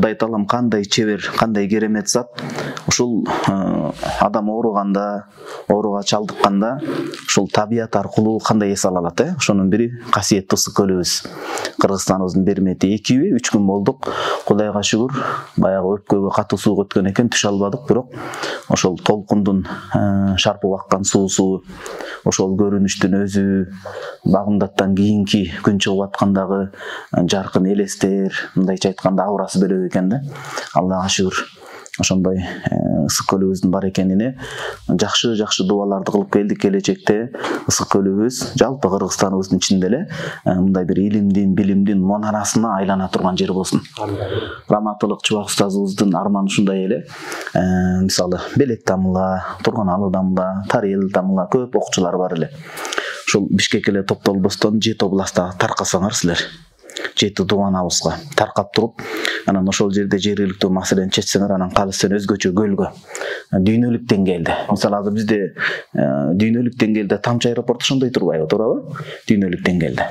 Кудай таалам кандай чебер, кандай керемет зат. Ушул адам ооруга чалдыкканда ушул табият аркылуу кандай эс ала алат, Ошонун бири касиеттүү ысык көлүбүз. Кыргызстаныбыздын бермети 2-3 күн болдук. Кудайга шүгүр, баягы өпкөгө катуу суу өткөн экен, түшө албадык, бирок ошол толкундун шарпып аккан суусу, ошол көрүнүштүн өзү, багымдаттан кийинки күн чыгып аткандагы жаркын элестер, мындайча айтканда аурасы бөлөк экен да. Аллага шүгүр. Ошондой ысык көлүбүздүн бар экенине жакшы дубаларды кылып келдик. Келечекте ысык көлүбүз жалпы Кыргызстаныбыздын ичинде эле мындай бир илимдин, билимдин монарасына айлана турган жер болсун. Раматылык Чубак устазыбыздын арманы ушундай эле. Мисалы, Белек Тамыла, Турганалы Тамыла, Тарел Тамыла көп окуучулар бар эле. Ушул Бишкекке эле топтолбостон 7 областка таркасаңар силер. 7 дубанабызга таркап туруп, анан ошол жерде жергиликтүү маселени чечсеңер, анан калысы өзгөчө көлгө, дүйнөлүк деңгээлде. Мисалы, азыр бизде дүйнөлүк деңгээлде Тамчы аэропорту ошондой турбайбы, туурабы? Дүйнөлүк деңгээлде.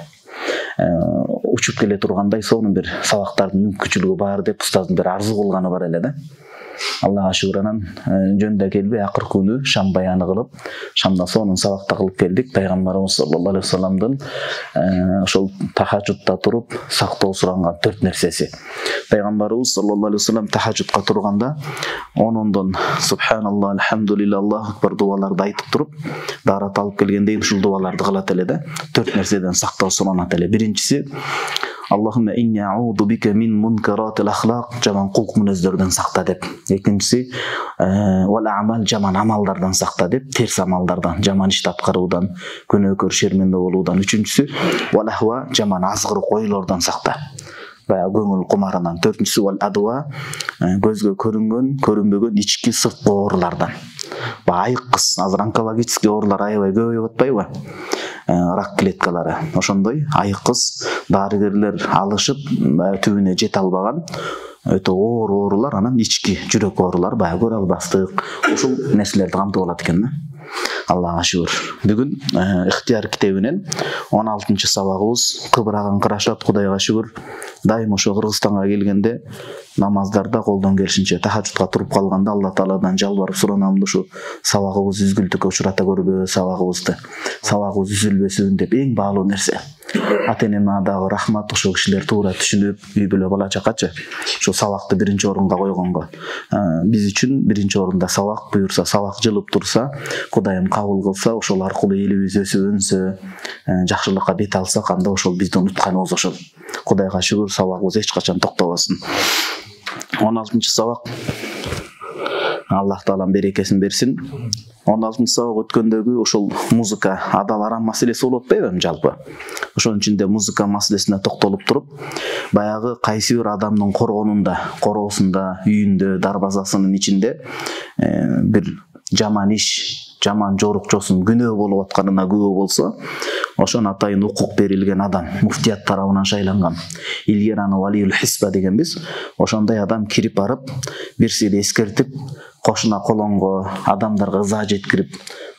Учуп келе тургандай сонун бир сабактардын мүмкүнчүлүгү бар деп устаздын бир арзу кылганы бар эле да. Аллага шүгүр, анан жөндөй келбей акыркы күнү шам баяны кылып, шамда сонун сабакта кылып келдик. Пайгамбарыбыз саллаллаху алейхи вассаламдын ошол тахажжудта туруп сактоо суранган 4 нерсеси. Пайгамбарыбыз саллаллаху алейхи вассалам тахажжудка турганда 10-ондон субханалла, альхамдулилла, Аллаху акбар дубаларды айтып туруп, даарат алып келгенден ушул дубаларды кылат эле да. 4 нерседен сактоо суранат эле. Биринчиси Аллахумма инни а'уду бика мин мункаратил ахлaq, жаман кулк мүнөздөрдөн сакта деп. Экинчиси вал а'мал, жаман амалдардан сакта деп, терс амалдардан, жаман ишти аткаруудан, күнөөкөр шерменде болуудан. Үчүнчүсү вал ахва, жаман азгырык ойлордон сакта, баягы көңүл кумарынан. Төртүнчүсү вал адва, көзгө көрүнгөн, көрүнбөгөн ички сырткы оорулардан. Айыккыс, азыр онкологический оорулар аябай көбөйүп атпайбы? Рак клеткалары. Ошондой айыккыс, дарыгерлер алышып, түбүнө жете албаган өтө оор оорулар, анан ички жүрөк оорулар, баягы көрө албастык, ушул нерселерди камтып алат экен да. Аллага шүгүр. Бүгүн ыктыяр китебинен 16-чы сабагыбыз кыбыраган кырашат. Кудайга шүгүр. Дайым ошо Кыргызстанга келгенде намаздарда колдон келишинче тахажжудка туруп калганда Алла Тааладан жалбарып суранам, ушу сабагыбыз үзгүлтүккө учурата көрбө, сабагыбыз үзүлбөсүн деп. Эң баалуу нерсе. Ата-энеме дагы рахмат, ошол кишилер туура түшүнүп, үй бүлө бала чакачы ошо сабакты биринчи орунга койгонго. Биз үчүн биринчи орунда сабак, буюрса сабак жылып турса, Кудайым кабыл кылса, ошол аркылуу элибиз өсүп өнсө, жакшылыкка бет алсак, анда ошол биздин утканыбыз ошол. Кудайга шүгүр, сабагыбыз эч качан токтобосун. 16-чы сабак. Аллах Таалам берекесин берсин. 16-чы сабак өткөндөгү ошол музыка, адал арам маселеси болуп атпайбы жалпы? Ошонун ичинде музыка маселесине токтолуп туруп, баягы кайсы бир адамдын коргонунда, короосунда, үйүндө, дарбазасынын ичинде бир жаман иш, жаман жорукчосун күнөө болуп атканына күбө болсо, ошон атайын укук берилген адам, муфтият тарабынан шайланган, илгери аны валиул хисба дегенбиз. Ошондой адам кирип барып, бирсине эскертип, кошуна колонго, адамдарга ыза жеткирип,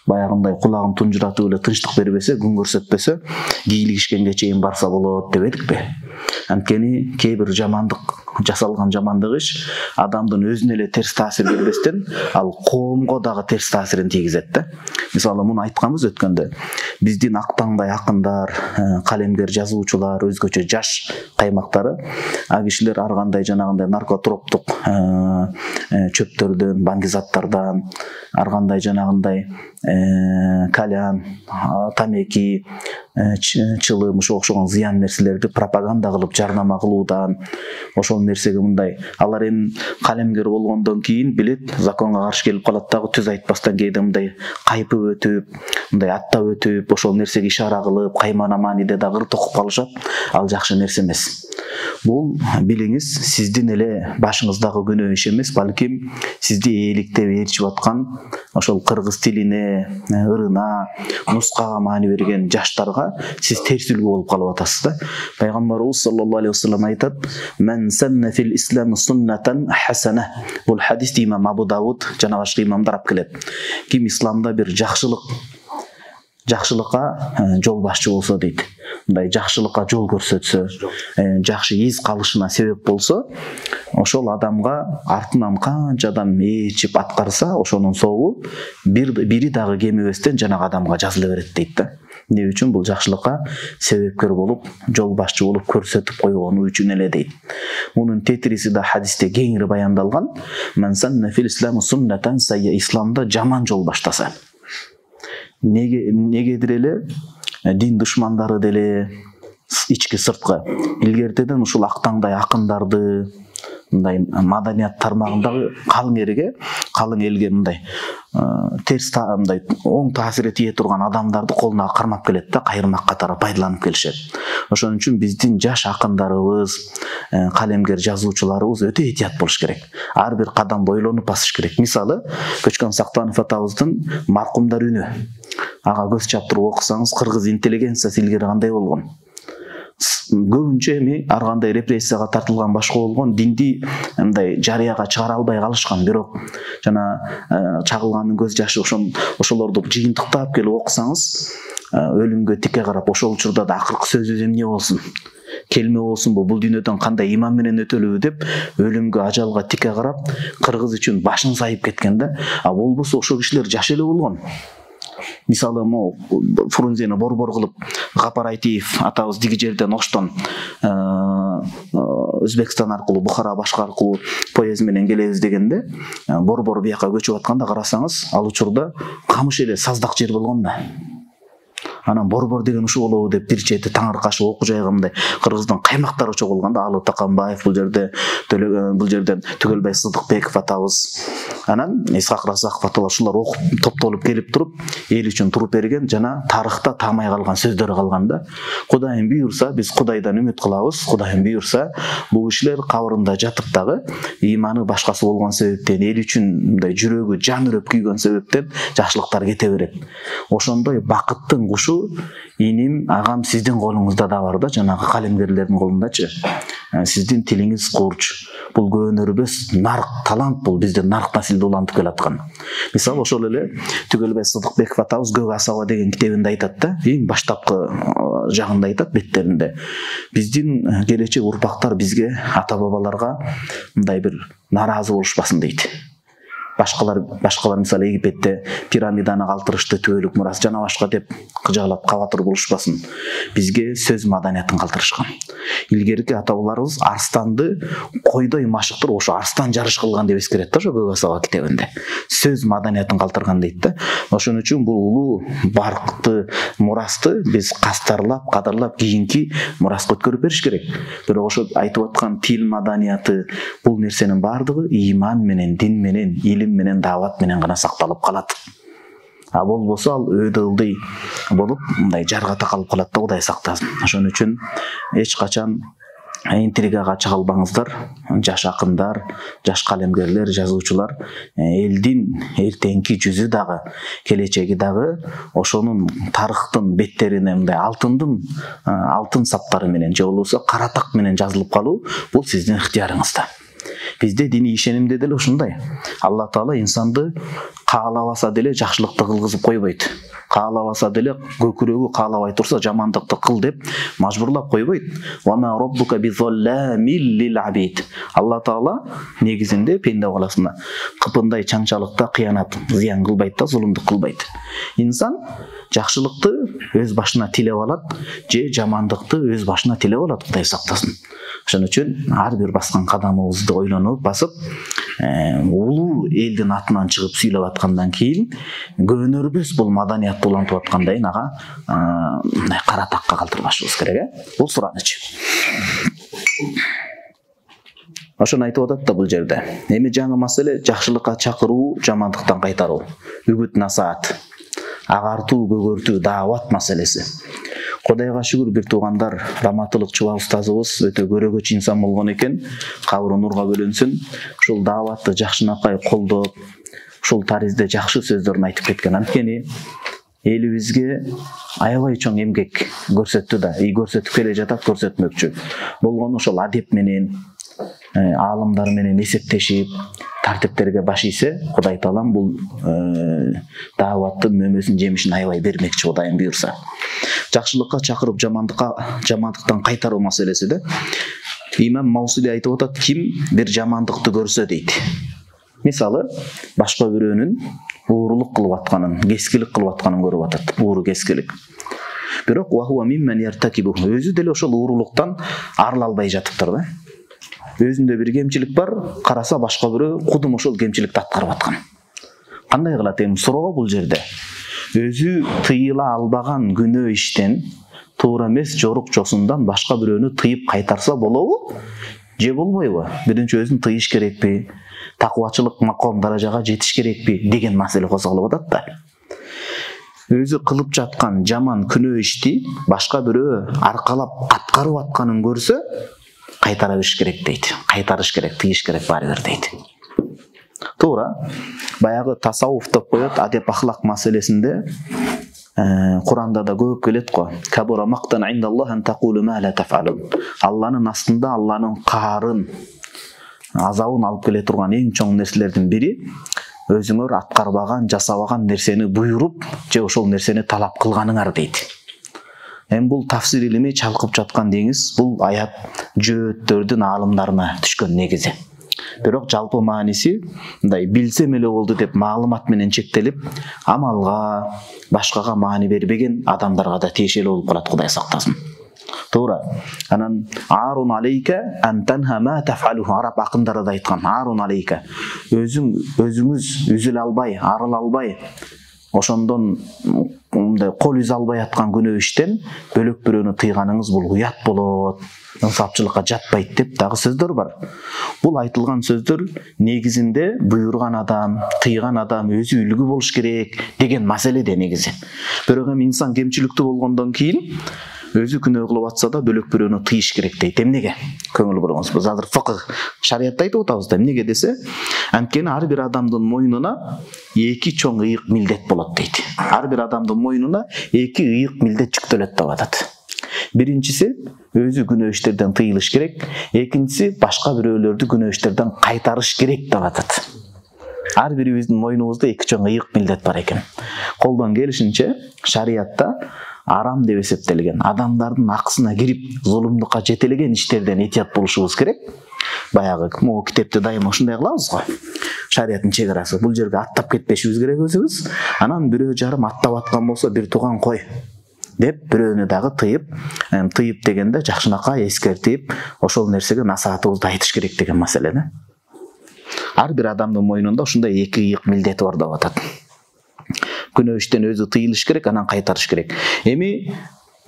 баягындай кулагын тунжуратып эле тынчтык бербесе, күн көрсөтпөсө, кийлигишкенге чейин барса болот дебедикпи? Анткени кээ бир жамандык, жасалган жамандык иш адамдын өзүнө эле терс таасир бербестен, ал коомго дагы терс таасирин тийгизет да. Мисалы, муну айтканбыз өткөндө. Биздин актаңдай акындар, калемгер жазуучулар, өзгөчө жаш каймактары, кишилер ар кандай жанагындай наркотроптук чөптөрдөн, баңгизаттардан, ар кандай жанагындай кальян, тамеки, чылым, ошого окшогон зыян нерселерди пропаганда кылып жарнама кылуудан, ошол нерсеге мындай алар эми калемгер болгондон кийин билет, законго каршы келип калат дагы, түз айтпастан кээде мындай кайпып өтүп, мындай аттап өтүп, ошол нерсеге ишара кылып, каймана-маниде дагы ыр токуп калышат. Ал жакшы нерсе эмес. Бул билиңиз, сиздин эле башыңыздагы күнөө иш эмес, балким сизди ээликтеп ээрчип аткан ошол кыргыз тилине, ырына, нускага маани берген жаштарга сиз терс үлгү болуп калып атасыз да. Пайгамбарыбыз саллаллаху алейхи вассалам айтат: "Мен санна фил ислам суннатан хасана". Бул хадисти имам Абу Давуд жана башка имамдар алып келет. Ким исламда бир жакшылыкка жол башчы болсо дейт. мындай жакшылыкка жол көрсөтсө, жакшы эз калышына себеп болсо, ошол адамга артынан канча адам ээрчип аткарса, ошонун соогу бири дагы кемебестен жанагы адамга жазыла берет дейт да. Эмне үчүн? Бул жакшылыкка себепкер болуп, жол башчы болуп көрсөтүп койгону үчүн эле дейт. Мунун тетириси да хадисте кеңири баяндалган. Ман санна фил ислами суннатан сайя, исламда жаман жол баштаса. Негедир эле дин душмандары деле ички сырткы илгертеден ушул актаңдай акындарды, мындай маданият тармагындагы калың элге мындай терс мындай оң таасири тие турган адамдарды колуна кармап келет да, кайырмак катары пайдаланып келишет. Ошон үчүн биздин жаш акындарыбыз, калемгер жазуучуларыбыз өтө этият болуш керек. Ар бир кадам бойлонуп басыш керек. Мисалы, Көчкөн Сактанов атабыздын Маркумдар үнү. Ага көз чаптырып окусаңыз, кыргыз интеллигенциясы илгери кандай болгон? Көбүнчө эми ар кандай репрессияга тартылган, башка болгон динди мындай жарыяга чыгара албай калышкан. Бирок жана чагылганын көз жашы ошолорду жыйынтыктап келип окусаңыз, өлүмгө тике карап, ошол учурда да акыркы сөзү эмне болсун? Келме болсунбу? Бул дүйнөдөн кандай иман менен өтөлүбү деп өлүмгө, ажалга тике карап, кыргыз үчүн башын сайып кеткен да. А болбосо ошол кишилер жаш эле болгон. Мисалы, Фрунзени борбор кылып, Гапар Айтиев атабыз диги жерден Оштон Өзбекстан аркылуу, Бухара, башка аркылуу поезд менен келебиз дегенде, борбор бияка көчүп атканда карасаңыз, ал учурда камыш эле саздак жер болгон да. Анан борбор деген ушул болобу деп бир чети таңыркашып окуу жайга мындай кыргыздын каймактары чогулганда, Алы Таканбаев, бул жерден Түгөлбай Сыдыкбеков атабыз, анан Исхак Разаков аталар, ушулар окуп топтолуп келип туруп, эл үчүн туруп берген, жана тарыхта таамай калган сөздөрү калган да. Кудайым буйрса, биз Кудайдан үмүт кылабыз. Кудайым буйрса, бул кишилер кабырында жатып дагы ыйманы башкасы болгон себептен, эл үчүн мындай жүрөгү жан үрөп күйгөн себептен жакшылыктар кете берет. Ошондой бакыттын кушу иним, агам сиздин колуңузда да бар да, жанагы калемгерлердин колундачы. Сиздин тилиңиз курч. Бул көөнөрбөс нарк талант, бул биздин нарк насилде улантып келаткан. Мисалы, ошол эле Түгөлбай Сыдыкбеков атабыз Көк асаба деген китебинде айтат да, эң баштапкы жагында айтат, беттеринде. Биздин келечек урпактар бизге, ата бабаларга мындай бир наразы болушпасын дейт. Башкалар мисалы Египетте пирамиданы калтырышты, түбөлүк мурас жана башка деп кыжаалап кабатыр болушпасын. Бизге сөз маданиятын калтырышкан. Илгерки ата-бабаларыбыз арстанды койдой машыктырып, ошо арстан жарыш кылган деп эскерет да, ошо Көк асаба китебинде. Сөз маданиятын калтырган дейт да. Ошон үчүн бул улуу баркты мурасты биз кастарлап, кадырлап, кийинки мураска өткөрүп бериш керек. Бирок ошо айтып аткан тил маданияты, бул нерсенин бардыгы иман менен, дин менен, менен, даават менен гана сакталып калат. А болбосо ал өйдө ылдый болуп, мындай жарга такалып калат да, Кудай сактасын. Ошон үчүн эч качан интригага чыгалбаңыздар, жаш акындар, жаш калемгерлер, жазуучулар. Элдин эртеңки жүзү дагы, келечеги дагы ошонун тарыхтын беттерине мындай алтын саптары менен, же болбосо кара так менен жазылып калуу, бул сиздин ыктыярыңызда. Бизде диний ишенимде деле ушундай. Алла Таала инсанды каалабаса деле жакшылыкты кылгызып койбойт. Каалабаса деле көкүрөгү каалабай турса жамандыкты кыл деп мажбурлап койбойт. Ва ма раббука бизолламил лил абид. Алла Таала негизинде пенде баласына кыпындай чаңчалыкта кыянат, зыян кылбайт да, зулумдук кылбайт. Инсан жакшылыкты өз башына тилеп алат, же жамандыкты өз башына тилеп алат, Кудай сактасын. Ошон үчүн ар бир баскан кадамыбызды ойлонуп басып, улуу элдин атынан чыгып сүйлөп аткандан кийин көөнөрбөс бул маданиятты улантып аткандайын ага мындай кара такка калтырбашыбыз керек, бул суранычы. Ошону айтып атат да бул жерде. Эми жаңы маселе жакшылыкка чакыруу, жамандыктан кайтаруу, үгүт насаат, агартуу, көгөртүү, даават маселеси. Кудайга шүгүр, бир туугандар, Раматылык Чуба устазыбыз өтө көрөгөч инсан болгон экен. Кабыры нурга бөлөнсүн. Ушул дааватты жакшынакай колдоп, ушул таризде жакшы сөздөрүн айтып кеткен. Анткени элибизге аябай чоң эмгек көрсөттү да, көрсөтүп келе жатат, көрсөтмөкчү болгону ошол адеп менен, аалымдар менен эсептешип, тартиптерге баш ийсе, Кудай Таалам бул дааваттын мөмөсүн жемишин аябай бермекчи, Кудайым буйрса. Жакшылыкка чакырып, жамандыктан кайтаруу маселеси да. Имам Маусили айтып атат, ким бир жамандыкты көрсө дейт. Мисалы, башка бирөөнүн уурулук кылып атканын, кескилик кылып атканын көрүп атат. Ууру кескилик. Бирок өзү деле ошол уурулуктан арыла албай жатыптыр да. Өзүндө бир кемчилик бар, караса башка бирөө кудум ошол кемчиликти аткарып аткан. Кандай кылат эми суроо бул жерде? Өзү тыйыла албаган күнөө иштен, туура эмес жорук жосундан башка бирөөнү тыйып кайтарса болобу? Же болбойбу? Биринчи өзүн тыйыш керекпи? Такубачылык маком даражага жетиш керекпи деген маселе козголуп атат да. Өзү кылып жаткан жаман күнөө ишти башка бирөө аркалап аткарып атканын көрсө, кайтара бериш керек дейт. Кайтарыш керек, тыйыш керек баары бир дейт. Туура. Баягы тасаввуф деп коет, адеп ахлак маселесинде Куранда да көп келет го. Кабура мактан индаллах ан тaqulu ма ла тафалун. Алланын астында Алланын каарын, азабын алып келе турган эң чоң нерселердин бири өзүңөр аткарбаган, жасабаган нерсени буйруп, же ошол нерсени талап кылганыңар дейт. Эми бул тафсир илими чалкып жаткан деңиз, бул аят жөөттөрдүн аалымдарына түшкөн негизи. Бирок жалпы мааниси мындай билсем эле болду деп маалымат менен чектелип, амалга, башкага маани бербеген адамдарга да тиешелүү болуп калат, Кудай сактасын. Туура. Анан арун алейка ан танха ма тафалу, араб акындары да айткан, арун алейка. Өзүңүз үзүлө албай, арыла албай, ошондон мындай кол үз албай аткан күнөө иштен бөлөк бирөөнү тыйганыңыз бул уят болот, ынсапчылыкка жатпайт деп дагы сөздөр бар. Бул айтылган сөздөр негизинде буйрган адам, тыйган адам өзү үлгү болуш керек деген маселеде негизи. Бирок эми инсан кемчиликтүү болгондон кийин өзү күнөө кылып атса да бөлөк бирөөнү тыйыш керек дейт. Эмнеге? Көңүл буруңуз. Биз азыр фикх, шариатта айтып атабыз да. Эмнеге десе, анткени ар бир адамдын мойнуна эки чоң ыйык милдет болот дейт. Ар бир адамдын мойнуна эки ыйык милдет жүктөлөт деп атат. Биринчиси өзү күнөө иштерден тыйылыш керек, экинчиси башка бирөөлөрдү күнөө иштерден кайтарыш керек деп атат. Ар бирибиздин мойнубузда эки чоң ыйык милдет бар экен. Колдон келишинче шариатта арам деп эсептелген, адамдардын акысына кирип, зулумдукка жетелеген иштерден этият болушубуз керек. Баягы могу китепте дайыма ушундай кылабыз го. Шариаттын чек арасы. Бул жерге аттап кетпешибиз керек өзүбүз. Анан бирөө жарым аттап аткан болсо бир туган кой деп бирөөнү дагы тыйып дегенде жакшынакай эскертип, ошол нерсеге насаатыбызды айтыш керек деген маселе да. Ар бир адамдын мойнунда ушундай эки ыйык милдети бар деп атат. Күнөө иштен өзү тыйылыш керек, анан кайтарыш керек. Эми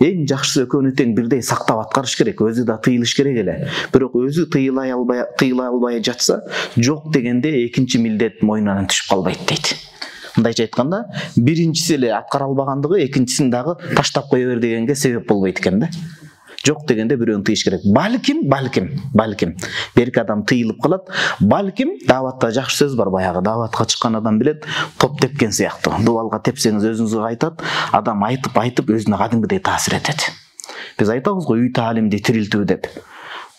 эң жакшысы экөөнү тең бирдей сактап аткарыш керек, өзү да тыйылыш керек эле. Бирок өзү тыйыла албай жатса, жок дегенде экинчи милдет мойнунан түшүп калбайт дейт. Мындайча айтканда, биринчиси эле аткара албагандыгы экинчисин дагы таштап кое бер дегенге себеп болбойт экен да. Жок дегенде бирөөнү тыйыш керек. Балким берки адам тыйылып калат. Балким дааватта жакшы сөз бар, баягы дааватка чыккан адам билет, топ тепкен сыяктуу. Дубалга тепсеңиз өзүңүзгө кайтат, адам айтып өзүнө кадимгидей таасир этет. Биз айтабыз го үй таалимди тирилтүү деп.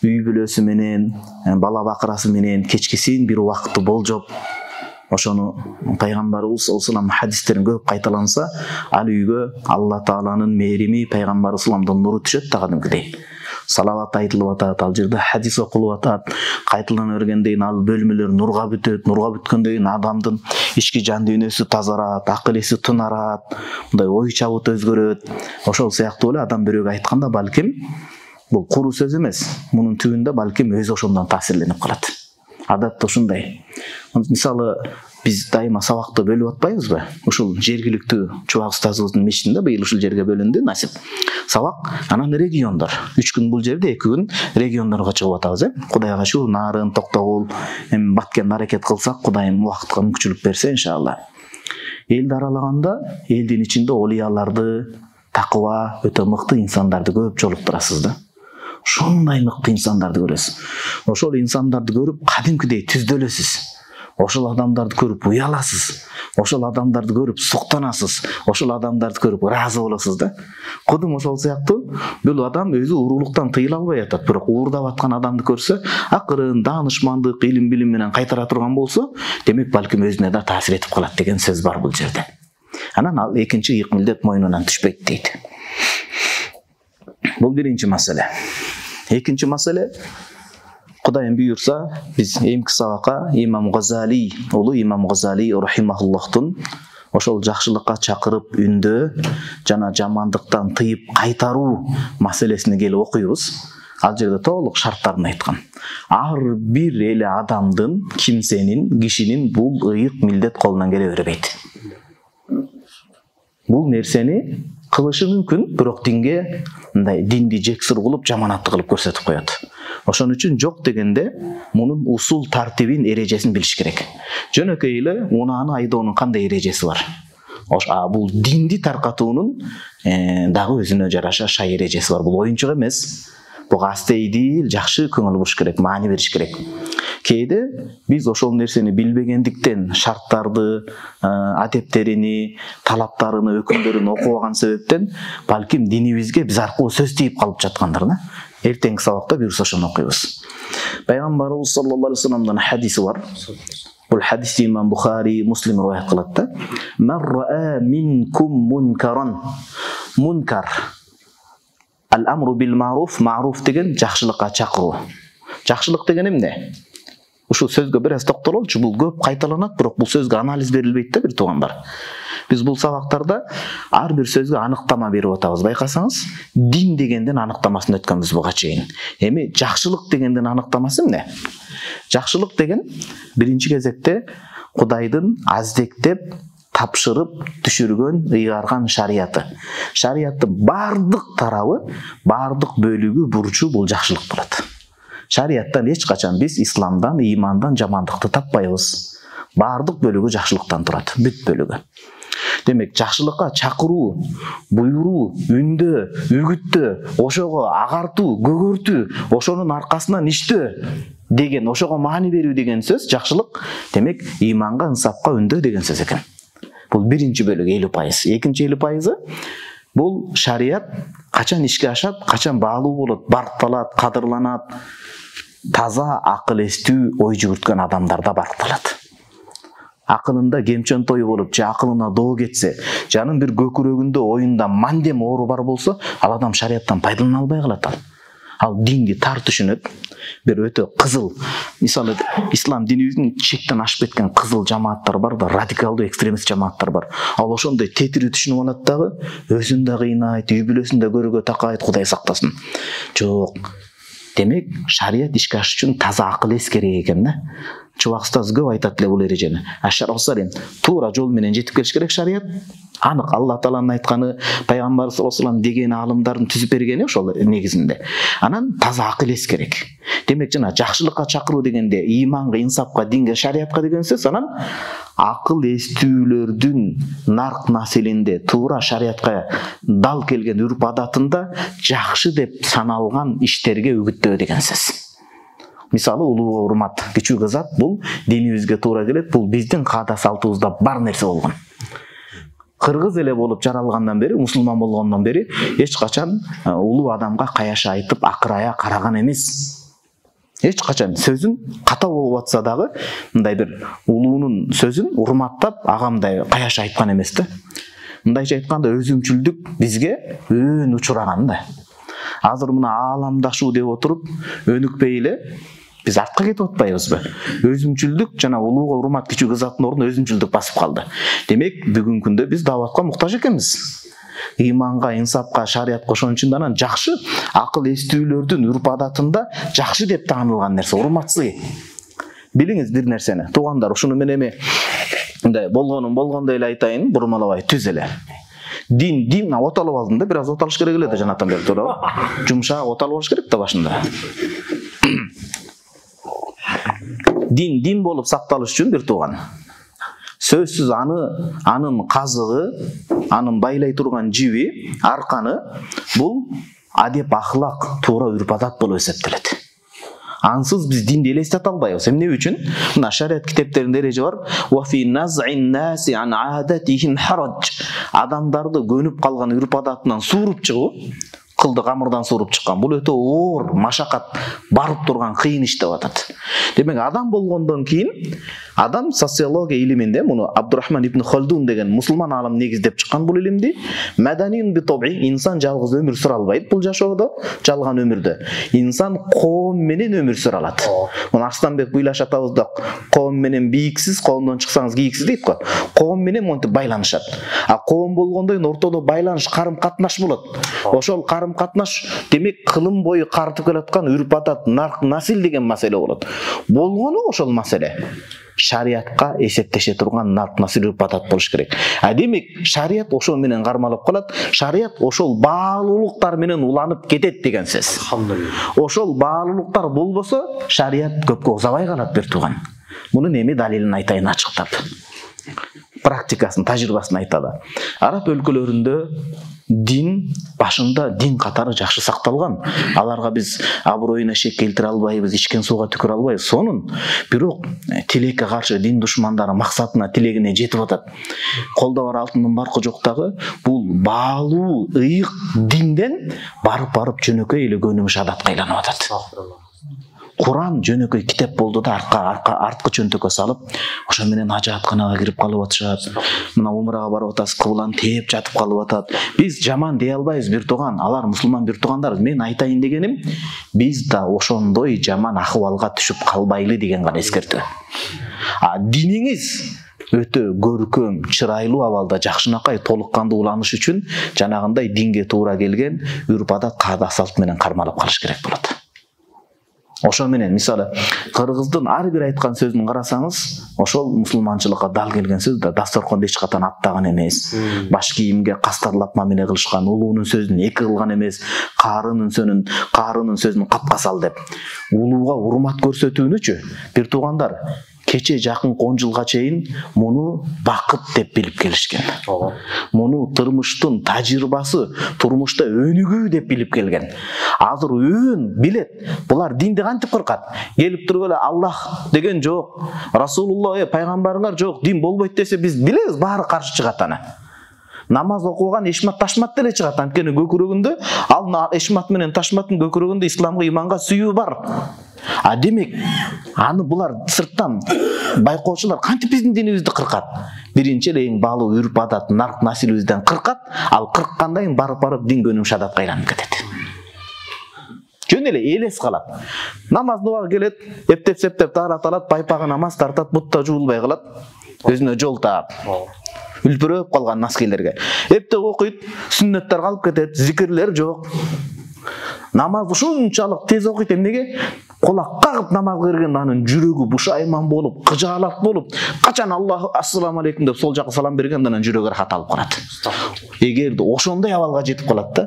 Үй бүлөсү менен, бала бакырасы менен кечкисин бир убакытты болжоп, ошону пайгамбарыбыз саллаллаху хадистерин көп кайталанса, ал үйгө Алла Тааланын мээрими, пайгамбарыбыз салламдын нуру түшөт да кадимгидей. Салават айтылып атат, ал жерде хадис окулуп атат, кайталана бергенден кийин ал бөлмөлөр нурга бүтөт, нурга бүткөндөн кийин адамдын ички жан дүйнөсү тазарат, акыл эси тынарат, мындай ой чабыт өзгөрөт. Ошол сыяктуу эле адам бирөөгө айтканда балким бул куру сөз эмес, мунун түбүндө балким өзү ошондон таасирленип калат. Адатта ушундай. Мисалы, биз дайыма сабакты бөлүп атпайбызбы? Ушул жергиликтүү Чубак устазыбыздын мечитинде быйыл ушул жерге бөлүндү насип. Сабак, анан региондор. 3 күн бул жерде, 2 күн региондорго чыгып атабыз, Кудайга шүгүр, Нарын, Токтогул, эми Баткен аракет кылсак, Кудайым убакытка мүмкүнчүлүк берсе, иншалла. Элди аралаганда, элдин ичинде олияларды, такыба, өтө мыкты инсандарды көп жолуктурасыз да. Ушундай мыкты инсандарды көрөсүз. Ошол инсандарды көрүп, кадимкидей түздөлөсүз. ошол адамдарды көрүп уяласыз, ошол адамдарды көрүп суктанасыз, ошол адамдарды көрүп ыраазы болосуз да. Кудум ошол сыяктуу бул адам өзү уурулуктан тыйыла албай атат, бирок уурдап аткан адамды көрсө, акырын даанышмандык, илим билим менен кайтара турган болсо, демек балким өзүнө да таасир этип калат деген сөз бар бул жерде. Анан ал экинчи ыйык милдет мойнунан түшпөйт дейт. Бул биринчи маселе. Экинчи маселе, Кудайым буйрса, биз эмки сабакка Имам Газали, улуу Имам Газали рахимахуллахтун ошол жакшылыкка чакырып үндөө жана жамандыктан тыйып кайтаруу маселесине келип окуйбуз. Ал жерде толук шарттарын айткан. Ар бир эле адамдын, кимсенин, кишинин бул ыйык милдет колунан келе бербейт. Бул нерсени кылышы мүмкүн, бирок динге мындай динди жексир кылып, жаманатты кылып көрсөтүп коет. Ошон үчүн жок дегенде мунун усул тартибин, эрежесин билиш керек. Жөнөкөй эле унааны айдоонун кандай эрежеси бар? Бул динди таркатуунун дагы өзүнө жараша шай эрежеси бар. Бул оюнчук эмес. Буга астейдил, жакшы көңүл буруш керек, маани бериш керек. Кээде биз ошол нерсени билбегендиктен шарттарды, адептерини, талаптарыны, өкүмдөрүн окубаган себептен балким динибизге биз аркылуу сөз тийип калып жаткандар да. Эртеңки сабакта буюрса ошону окуйбуз. Пайгамбарыбыз саллаллаху алейхи вассаламдын хадиси бар. Бул хадисти Имам Бухари, Муслим риваят кылат да. Ман раа минкум мункаран. Мункар. Ал-амру бил маруф, маруф деген жакшылыкка чакыруу. Жакшылык деген эмне? Ушул сөзгө бир аз токтололчу. Бул көп кайталанат, бирок бул сөзгө анализ берилбейт да, бир туугандар. Биз бул сабактарда ар бир сөзгө аныктама берип атабыз. Байкасаңыз, дин дегенден аныктамасын өткөнбүз буга чейин. Эми жакшылык дегенден аныктамасы эмне? Жакшылык деген биринчи кезекте Кудайдын аздектеп тапшырып түшүргөн, ыйгарган шарияты. Шарияттын бардык тарабы, бардык бөлүгү, бурчу бул жакшылык болот. Шарияттан эч качан биз исламдан, ыймандан жамандыкты таппайбыз. Бардык бөлүгү жакшылыктан турат, бүт бөлүгү. Демек, жакшылыкка чакыруу, буйруу, үндөө, үгүттөө, ошого агартуу, көгөртүү, ошонун аркасынан иштөө деген, ошого маани берүү деген сөз жакшылык. Демек, ыйманга, ынсапка үндөө деген сөз экен. Бул биринчи бөлүгү 50%. Экинчи 50% бул шарият качан ишке ашат, качан баалуу болот, баркталат, кадырланат. Таза акыл эстүү ой жүгүрткөн адамдарда баркталат. Акылында кемчен тою болуп, же акылына доо кетсе, жанын бир көкүрөгүндө, оюнда мандем оору бар болсо, ал адам шарияттан пайдалана албай калат ал. Ал динди тар түшүнөт. Бир өтө кызыл, мисалы ислам динибиздин чектен ашып кеткен кызыл жамааттар бар да, радикалдуу экстремист жамааттар бар. Ал ошондой тетири түшүнүп алат дагы, өзүн да кыйнайт, үй бүлөсүн да көргө такайт, Кудай сактасын. Жок. Демек, шарият ишке ашыш үчүн таза акыл эс керек экен да. Чубак устаз көп айтат эле бул эрежени. Ашар-осарин туура жол менен жетип келиш керек шарият. Анык Алла Тааланын айтканы, пайгамбар саллаллаху алейхи вассалам деген аалымдардын түзүп бергени ошол негизинде. Анан таза акыл эс керек. Демек, жана жакшылыкка чакыруу дегенде ыйманга, инсапка, динге, шариятка деген сөз. Анан акыл эстүүлөрдүн нарк населинде туура шариятка дал келген үрп адатында жакшы деп саналган иштерге үгүттөө деген сөз. Мисалы, улууга урмат, кичүү кызат, бул динибизге туура келет, бул биздин каада салтыбызда бар нерсе болгон. Кыргыз эле болуп жаралгандан бери, мусулман болгондон бери эч качан улуу адамга каяша айтып, акырая караган эмес. Эч качан сөзүн ката болуп атса дагы, мындай бир улуунун сөзүн урматтап, агамдай каяша айткан эмес да. Мындайча айтканда, өзүмчүлдүк бизге өн учураган да. Азыр мына ааламдашуу деп отуруп, өнүкпөй эле биз артка кетип атпайбызбы? Өзүмчүлдүк жана улууга урмат, кичүү кызаттын ордуна өзүмчүлдүк басып калды. Демек, бүгүнкү күндө биз дааватка муктаж экенбиз. Ыйманга, инсапка, шариятка ошон үчүн анан жакшы акыл эстүүлөрдүн үрп адатында жакшы деп таанылган нерсе, урматсыз. Билиңиз бир нерсени, туугандар, ушуну мен эми мындай болгондой эле айтайын, бурмалабай түз эле. Дин оталып алдым да, бир аз оталыш керек эле да жанаттан бери туурабы? Жумшак оталып алыш керек да башында. Дин болуп сакталыш үчүн бир тууган. Сөзсүз анын казыгы, анын байлай турган жиби, арканы бул адеп, ахлак, туура үрп адат болуп эсептелет. Ансыз биз динди элестете албайбыз. Эмне үчүн? Мына шариат китептеринде эреже бар. Wa fi naz'in nasi an 'adatihim haraj. Адамдарды көнүп калган үрп-адатынан suurуп чыгуу, кылды камырдан suurуп чыккан. Бул өтө оор, машакат, барып турган кыйын иш деп атат. Демек адам болгондон кийин адам социология илиминде муну Абдурахман ибн Халдун деген мусулман алым негиздеп чыккан бул илимди. Маданин би таби, инсан жалгыз өмүр сүрө албайт бул жашоодо, жалган өмүрдө. Инсан коом менен өмүр сүрө алат. Муну Арстанбек буйлашып атабыз да, коом менен бийиксиз, коомдон чыксаңыз кийиксиз дейт го. Коом менен монтип байланышат. А коом болгондо ортодо байланыш, карым-катнаш болот. Ошол карым-катнаш демек кылым бою картып келаткан үрп-адат, нарк, насил деген маселе болот. Болгону ошол маселе шариатка эсептеше турган нарк, насил, үрп-адат болуш керек. А демек шариат ошол менен кармалып калат. Шариат ошол баалуулуктар менен уланып кетет деген сөз. Ошол баалуулуктар болбосо шариат көпкө узабай калат бир туган. Мунун эми далилин айтайын ачыктап. Практикасын, тажрыйбасын айталы. Араб өлкөлөрүндө дин башында дин катары жакшы сакталган. Аларга биз аброюна шек келтире албайбыз, ичкен сууга түкүрө албайбыз. Сонун бирок тилекке каршы дин душмандары максатына, тилегине жетип атат. Колдо бар алтындын баркы жок дагы бул баалуу, ыйык динден барып жөнөкөй эле көнүмүш адатка айланып атат. Куран жөнөкөй китеп болду да арткы чөнтөккө салып, ошо менен ажатканага кирип калып атышат. Мына умрага барып атасыз, кыбланы тээп жатып калып атат. Биз жаман дей албайбыз бир туган, алар мусулман бир тугандар. Мен айтайын дегеним, биз да ошондой жаман акыбалга түшүп калбайлы деген гана эскертүү. А диниңиз өтө көркөм, чырайлуу абалда жакшынакай толук кандуу уланыш үчүн жанагындай динге туура келген үрп-адат, каада салт менен кармалып калыш керек болот. Ошо менен мисалы кыргыздын ар бир айткан сөзүн карасаңыз, ошол мусулманчылыкка дал келген сөз да. Дасторконду эч катан аттаган эмес. Баш кийимге кастарлап мамиле кылышкан, улуунун сөзүн эки кылган эмес, каарынын сөзүн капка сал деп. Улууга урмат көрсөтүүнүчү бир туугандар кече жакын 10 жылга чейин муну бакыт деп билип келишкен. Муну турмуштун тажрыйбасы, турмушта өнүгүү деп билип келген. Азыр өөн билет. Булар динди кантип кыркат? Келип туруп эле Аллах деген жок, Расулулла, пайгамбарыңар жок, дин болбойт десе биз билебиз, баары каршы чыгат аны. Намаз окуган эшмат ташмат деле чыгат. Анткени көкүрөгүндө, ал эшмат менен ташматтын көкүрөгүндө исламга, иманга сүйүү бар. А демек, аны булар сырттан байкоочулар кантип биздин динибизди кыркат? Биринчи эле эң баалуу үрп-адат, нарк, насилибизден кыркат, ал кырккандан кийин барып дин көнүмүш адатка айланып кетет. Жөн эле элес калат. Намаздын убагы келет, эптеп-септеп таарат алат, пайпагы намаз тартат, бутта жуулбай калат, өзүнө жол таап. Үлпүрөп калган наскелерге. Эптеп окуйт, сүннөттөр калып кетет, зикирлер жок. Намаз ушунчалык тез окуйт, эмнеге? Кулак кагып намаз кылган анын жүрөгү бушайман болуп, кыжаалат болуп, качан Аллах ассаламу алейкум деп сол жака салам бергенде анын жүрөгү рахат алып калат. Эгерде ошондой абалга жетип калат да.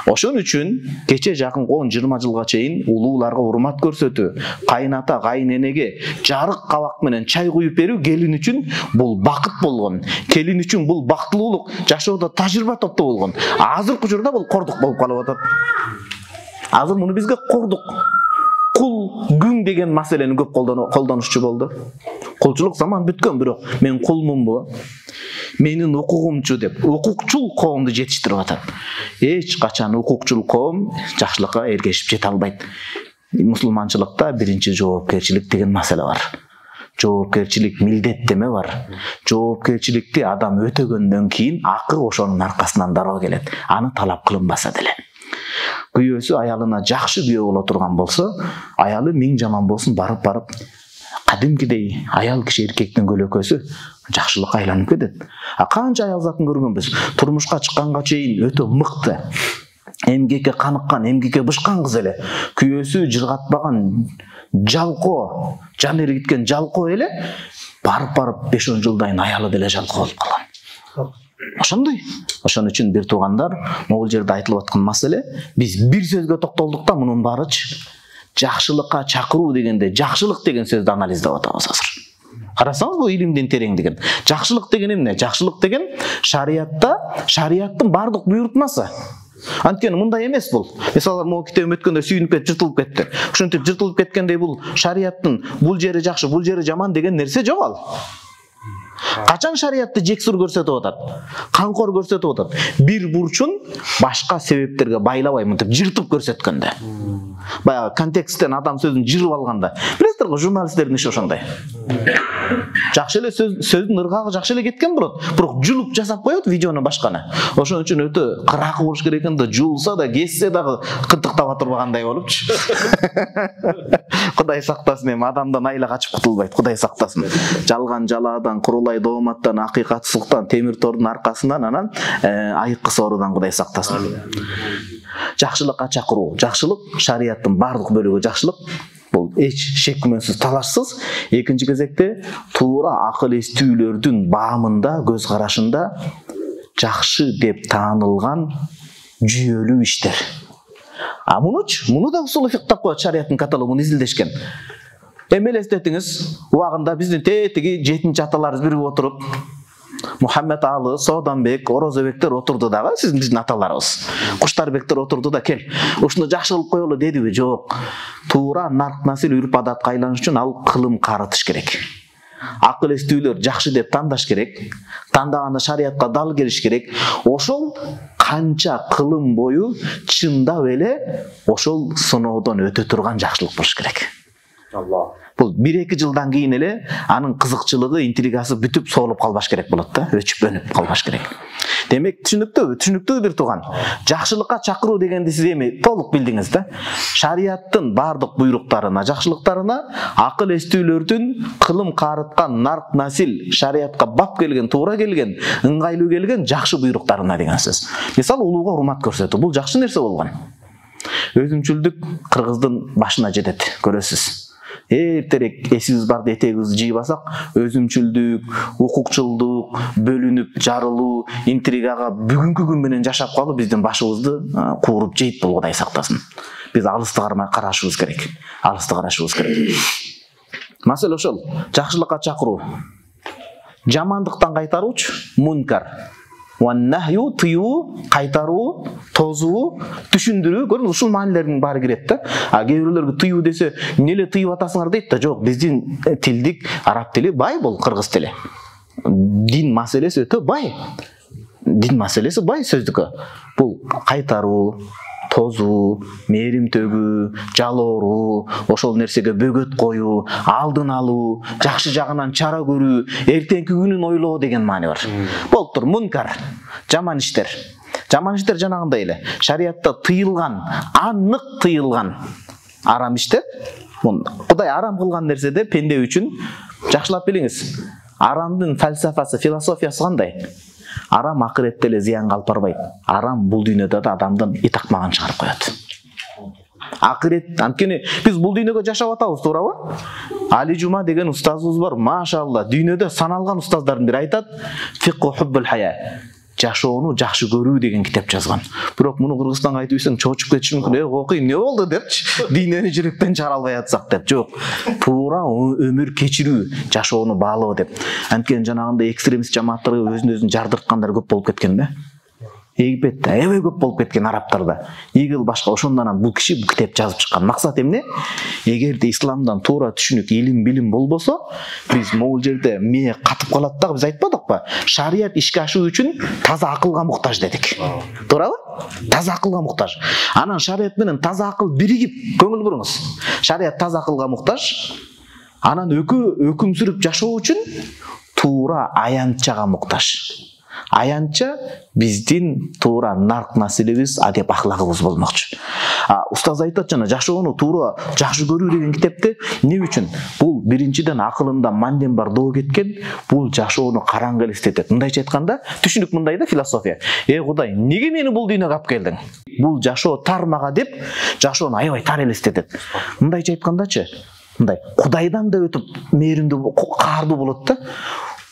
Ошон үчүн кече жакын 10-20 жылга чейин улууларга урмат көрсөтүү, кайната, кайненеге жарык кабак менен чай куюп берүү келин үчүн бул бакыт болгон. Келин үчүн бул бактылуулук, жашоодо тажрыйба топтоо болгон. Азыркы учурда бул кордук болуп калып атат. Азыр муну бизге кордук, кул, күң деген маселени көп колдонушчу болду. Кулчулук заман бүткөн, бирок мен кулмунбу? Менин укугумчу деп укукчул коомду жетиштирип атат. Эч качан укукчул коом жакшылыкка эргешип жете албайт. Мусулманчылыкта биринчи жоопкерчилик деген маселе бар. Жоопкерчилик милдеттеме бар. Жоопкерчиликти адам өтөгөндөн кийин акы ошонун аркасынан дароо келет. Аны талап кылынбаса деле. Күйөөсү аялына жакшы күйөө боло турган болсо, аялы миң жаман болсун барып кадимкидей аял киши эркектин көлөкөсү жакшылыкка айланып кетет. А канча аял затын көргөнбүз. Турмушка чыкканга чейин өтө мыкты, эмгекке каныккан, эмгекке бышкан кыз эле, күйөөсү жыргатпаган жалкоо, жан эргиткен жалкоо эле барып 5-10 жылдан кийин аялы деле жалкоо болуп калган. Ошондой. Ошон үчүн бир туугандар, могул жерде айтылып аткан маселе, биз бир сөзгө токтолдук да, мунун баарычы жакшылыкка чакыруу дегенде, жакшылык деген сөздү анализдеп атабыз азыр. Карасаңыз, бул илимдин тереңдигин. Жакшылык деген эмне? Жакшылык деген шариаттын бардык буйрутмасы. Анткени мындай эмес бул. Мисалы могу китебим өткөндө сүйүнүп кетип жыртылып кетти. Ушинтип жыртылып кеткендей бул шарияттын бул жери жакшы, бул жери жаман деген нерсе жок ал. Качан шариятты жексур көрсөтүп атат, камкор көрсөтүп атат, бир бурчун башка себептерге байлабай мынтип жыртып көрсөткөндө. Баягы контексттен адам сөзүн жырып алганда, билесиздер го, журналисттердин иши ошондой. Жакшы эле сөздүн ыргагы жакшы эле кеткен болот, бирок жулуп жасап коет видеону башканы. Ошон үчүн өтө кыракы болуш керек экен да, жулса да, кессе дагы кынтыктап отурбагандай болупчу. Кудай сактасын, эми адамдан айла качып кутулбайт, Кудай сактасын. Жалган жалаадан, курулай дооматтан, акыйкатсыздыктан, темир тордун аркасынан, анан айыккы соорудан Кудай сактасын. Жакшылыкка чакыруу, жакшылык шарияттын бардык бөлүгү жакшылык. Бул эч шек күмөнсүз талашсыз. Экинчи кезекте туура акыл эстүүлөрдүн баамында, көз карашында жакшы деп таанылган жүйөлүү иштер. Муну да усул фикh деп коет, шарияттын каталогун изилдешкен. Эми элестетиңиз, убагында биздин тетиги 7-аталарыбыз биригип отуруп, Мухаммед Алы, Сооданбек, Орозобектер отурду дагы, биздин аталарыбыз. Куштарбектер отурду да, кел, ушуну жакшы кылып коелу дедиби? Жок. Туура нарк насил үрп адатка айланыш үчүн ал кылым карытыш керек. Акыл эстүүлөр жакшы деп тандаш керек. Тандаганда шариятка дал келиш керек. Ошол канча кылым бою чындап эле ошол сыноодон өтө турган жакшылык болуш керек. Бул 1-2 жылдан кийин эле анын кызыкчылыгы, интригасы бүтүп соолуп калбаш керек болот да, өчүп өнүп калбаш керек. Демек түшүнүктүү бир тууган. Жакшылыкка чакыруу дегенди сиз эми толук билдиңиз да. Шарияттын бардык буйруктарына, жакшылыктарына, акыл эстүүлөрдүн кылым карыткан нарк насил, шариятка бап келген, туура келген, ыңгайлуу келген жакшы буйруктарына деген сөз. Мисалы, улууга урмат көрсөтүү, бул жакшы нерсе болгон. Өзүмчүлдүк кыргыздын башына жетет, көрөсүз. Эртерээк эсибиз барда этегибизди жыйып алсак, өзүмчүлдүк, укукчулдук, бөлүнүп жарылуу, интригага бүгүнкү күн менен жашап калып биздин башыбызды кууруп жейт, бул Кудай сактасын. Биз алысты карашыбыз керек. Маселе ошол, жакшылыкка чакыруу. Жамандыктан кайтаруучу мункар. Нахю тыюу, кайтаруу, тозуу, түшүндүрүү, көрүңүз, ушул маанилердин баары кирет да. Кээ бирлерге тыюу десе, эмне тыюп атасыңар дейт да. Жок, биздин тилдик араб тили бай, бул кыргыз тили. Дин маселеси өтө бай. Сөздүккө. Бул кайтаруу, тозуу, мээрим төгүү, жалооруу, ошол нерсеге бөгөт коюу, алдын алуу, жакшы жагынан чара көрүү, эртеңки күнүн ойлоо деген маани бар. Болуптур, мункар, жаман иштер. Жаман иштер жанагындай эле. Шариятта тыйылган, анык тыйылган арам иштер. Кудай арам кылган нерседе пенде үчүн жакшылап билиңиз. Арамдын фалсафасы, философиясы кандай? Арам акыретте эле зыянга алып барбайт. Арам бул дүйнөдө да адамдын итакмагын чыгарып коет. Акырет, анткени биз бул дүйнөгө жашап атабыз, туурабы? Али Жума деген устазыбыз бар, машалла, дүйнөдө саналган устаздардын бири айтат, фикху хуббул хая. Жашоону жакшы көрүү деген китеп жазган. Бирок муну Кыргызстанга айтып ийсең чоочуп кетиши мүмкүн. Окуй, эмне болду депчи, дүйнөнү жүрөктөн чыгара албай атсак деп. Жок, туура өмүр кечирүү, жашоону баалоо деп. Анткени жанагындай экстремист жамааттарга өзүн жардырткандар көп болуп кеткен да. Египетте аябай көп болуп кеткен, арабтарда. Игил башка, ошондон бул киши бул китеп жазып чыккан. Максат эмне? Эгерде исламдан туура түшүнүк, илим, билим болбосо, биз могул жерде мээ катып калат да, биз айтпадыкпы? Шарият ишке ашуу үчүн таза акылга муктаж дедик. Туурабы? Таза акылга муктаж. Анан шарият менен таза акыл биригип, көңүл буруңуз. Шарият таза акылга муктаж. Анан өкүм сүрүп жашоо үчүн туура аянтчага муктаж. Аянтча биздин туура нарк насилибиз, адеп ахлагыбыз болмокчу. Устаз айтат жана жашоону туура жакшы көрүү деген китепте эмне үчүн? Бул биринчиден акылында манден бар доо кеткен, бул жашоону караңгы элестетет. Мындайча айтканда, түшүнүк мындай да, философия. Кудай, эмнеге мени бул дүйнөгө алып келдиң? Бул жашоо тар мага деп, жашоону аябай тар элестетет. Мындайча айткандачы, мындай Кудайдан да өтүп мээримдүү, каардуу болот да.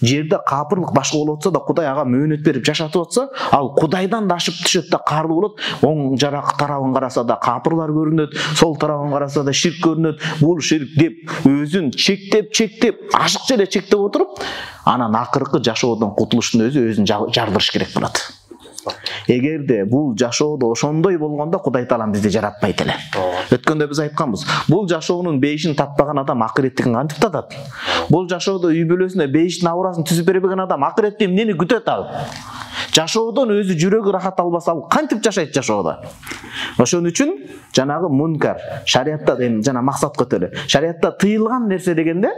Жерде капырлык башка болуп атса да, Кудай ага мөөнөт берип жашатып атса, ал Кудайдан да ашып түшөт да, каардуу болот. Оң жарак тарабын караса да капырлар көрүнөт, сол тарабын караса да ширк көрүнөт. Бул ширк деп өзүн чектеп, ашыкча эле чектеп отуруп, анан акыркы жашоодон кутулуштун өзүн жардырыш керек болот. Эгерде бул жашоодо ошондой болгондо Кудай Таалам бизди жаратпайт эле. Өткөндө биз айтканбыз. Бул жашоонун бейишин татпаган адам акыреттигин кантип татат? Бул жашоодо үй бүлөсүнө бейиштин абырасын түзүп бербеген адам акыретте эмнени күтөт ал? Жашоодон өзү жүрөгү рахат албаса ал кантип жашайт жашоодо? Ошон үчүн жанагы мункар, шариатта жана максат көтөлө. Шариатта тыйылган нерсе дегенде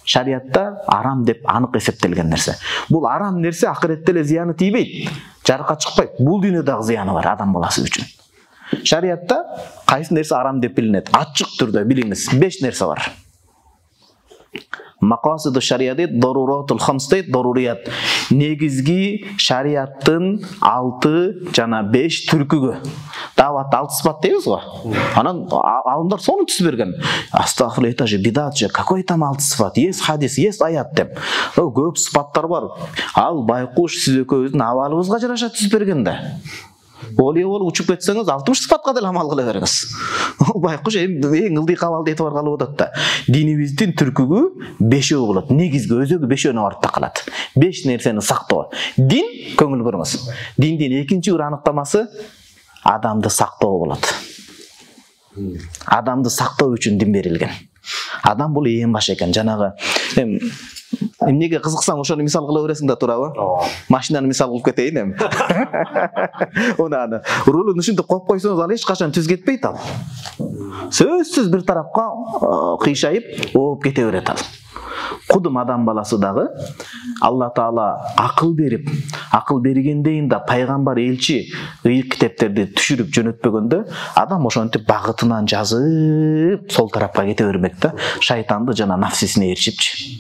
шариатта арам деп анык эсептелген нерсе. Бул арам нерсе акыретте эле зыяны тийбейт, жарыкка чыкпайт. Бул дүйнөдө дагы зыяны бар адам баласы үчүн. Шариатта кайсы нерсе арам деп билинет? Ачык түрдө билиңиз. 5 нерсе бар. Мақасиду шариаты даруратул хамс дейт, дарурият. Негизги шариаттын 6 жана 5 түркүгү. Дават 6 сыпат дейбиз го. Анан алымдар сону түзүп берген. Астагфирулла, это же бидат же, какой там 6 сыпат? Есть хадис, есть аят деп. Көп сыпаттар бар. Ал байкуш сиз экөөбүздүн абалыбызга жараша түзүп берген да. Оле учуп кетсеңиз 60 сыпатка деле амал кыла бериңиз. Байкуш эң ылдый кабалды этип баргалы болот да. Динибиздин түркүгү 5өө болот. Негизги өзөгү 5өөнө барып такалат. 5 нерсени сактоо. Дин, көңүл буруңуз. Диндин экинчи бир аныктамасы адамды сактоо болот. Адамды сактоо үчүн дин берилген. Адам бул эң баш экен. Жанагы эмнеге кызыксаң ошону мисал кыла бересиң да, туурабы? Машинаны мисал кылып кетейин эми. Унаны рулун ушинтип коюп койсоңуз ал эч качан түз кетпейт ал. Сөзсүз бир тарапка кыйшайып, ооп кете берет ал. Кудум адам баласы дагы Алла Таала акыл берип, акыл бергендейин да пайгамбар, элчи, ыйык китептерди түшүрүп жөнөтпөгөндө адам ошентип багытынан жазып сол тарапка кете бермек да, шайтанды жана нафсисине ээрчипчи.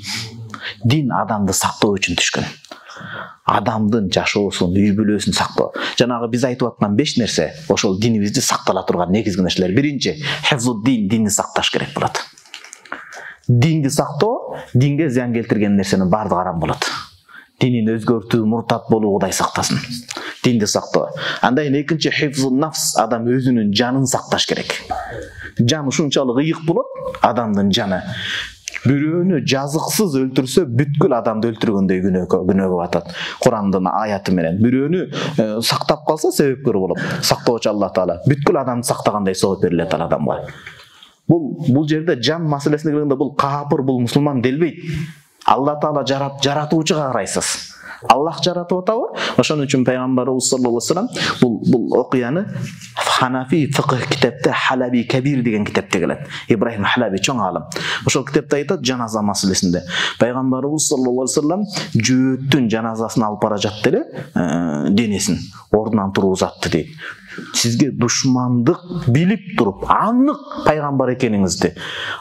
Дин адамды сактоо үчүн түшкөн. Адамдын жашоосун, үй бүлөсүн сактоо. Жанагы биз айтып аткан 5 нерсе ошол динибизди сактала турган негизги нерселер. Биринчи, хифзуддин, динди сакташ керек болот. Динди сактоо, динге зыян келтирген нерсенин бардыгы арам болот. Динин өзгөртүү, муртат болуу Кудай сактасын. Динди сактоо. Андан кийин экинчи, хифзун нафс, адам өзүнүн жанын сакташ керек. Жан ушунчалык ыйык болот, адамдын жаны. Бирөөнү жазыксыз өлтүрсө бүткүл адамды өлтүргөндөй күнөөгө батат. Курандын аяты менен бирөөнү сактап калса себепкөр болот. Сактоочу Алла Таала бүткүл адамды сактагандай сооп берилет ал адамга. Бул жерде жан маселесине келгенде бул капыр, бул мусулман делбейт. Алла Таала жаратуучуга карайсыз. Аллах жаратып атабы? Ошон үчүн пайгамбарыбыз саллаллаху алейхи вассалам бул окуяны Ханафи фикх китепте Халаби Кабир деген китепте келет. Ибрахим Халаби чоң алым. Ошол китепте айтат жаназа маселесинде. Пайгамбарыбыз саллаллаху алейхи вассалам жөөттүн жаназасын алып бара жатты эле, денесин ордунан тургузатты дейт. Сизге душмандык билип туруп, анык пайгамбар экениңизди,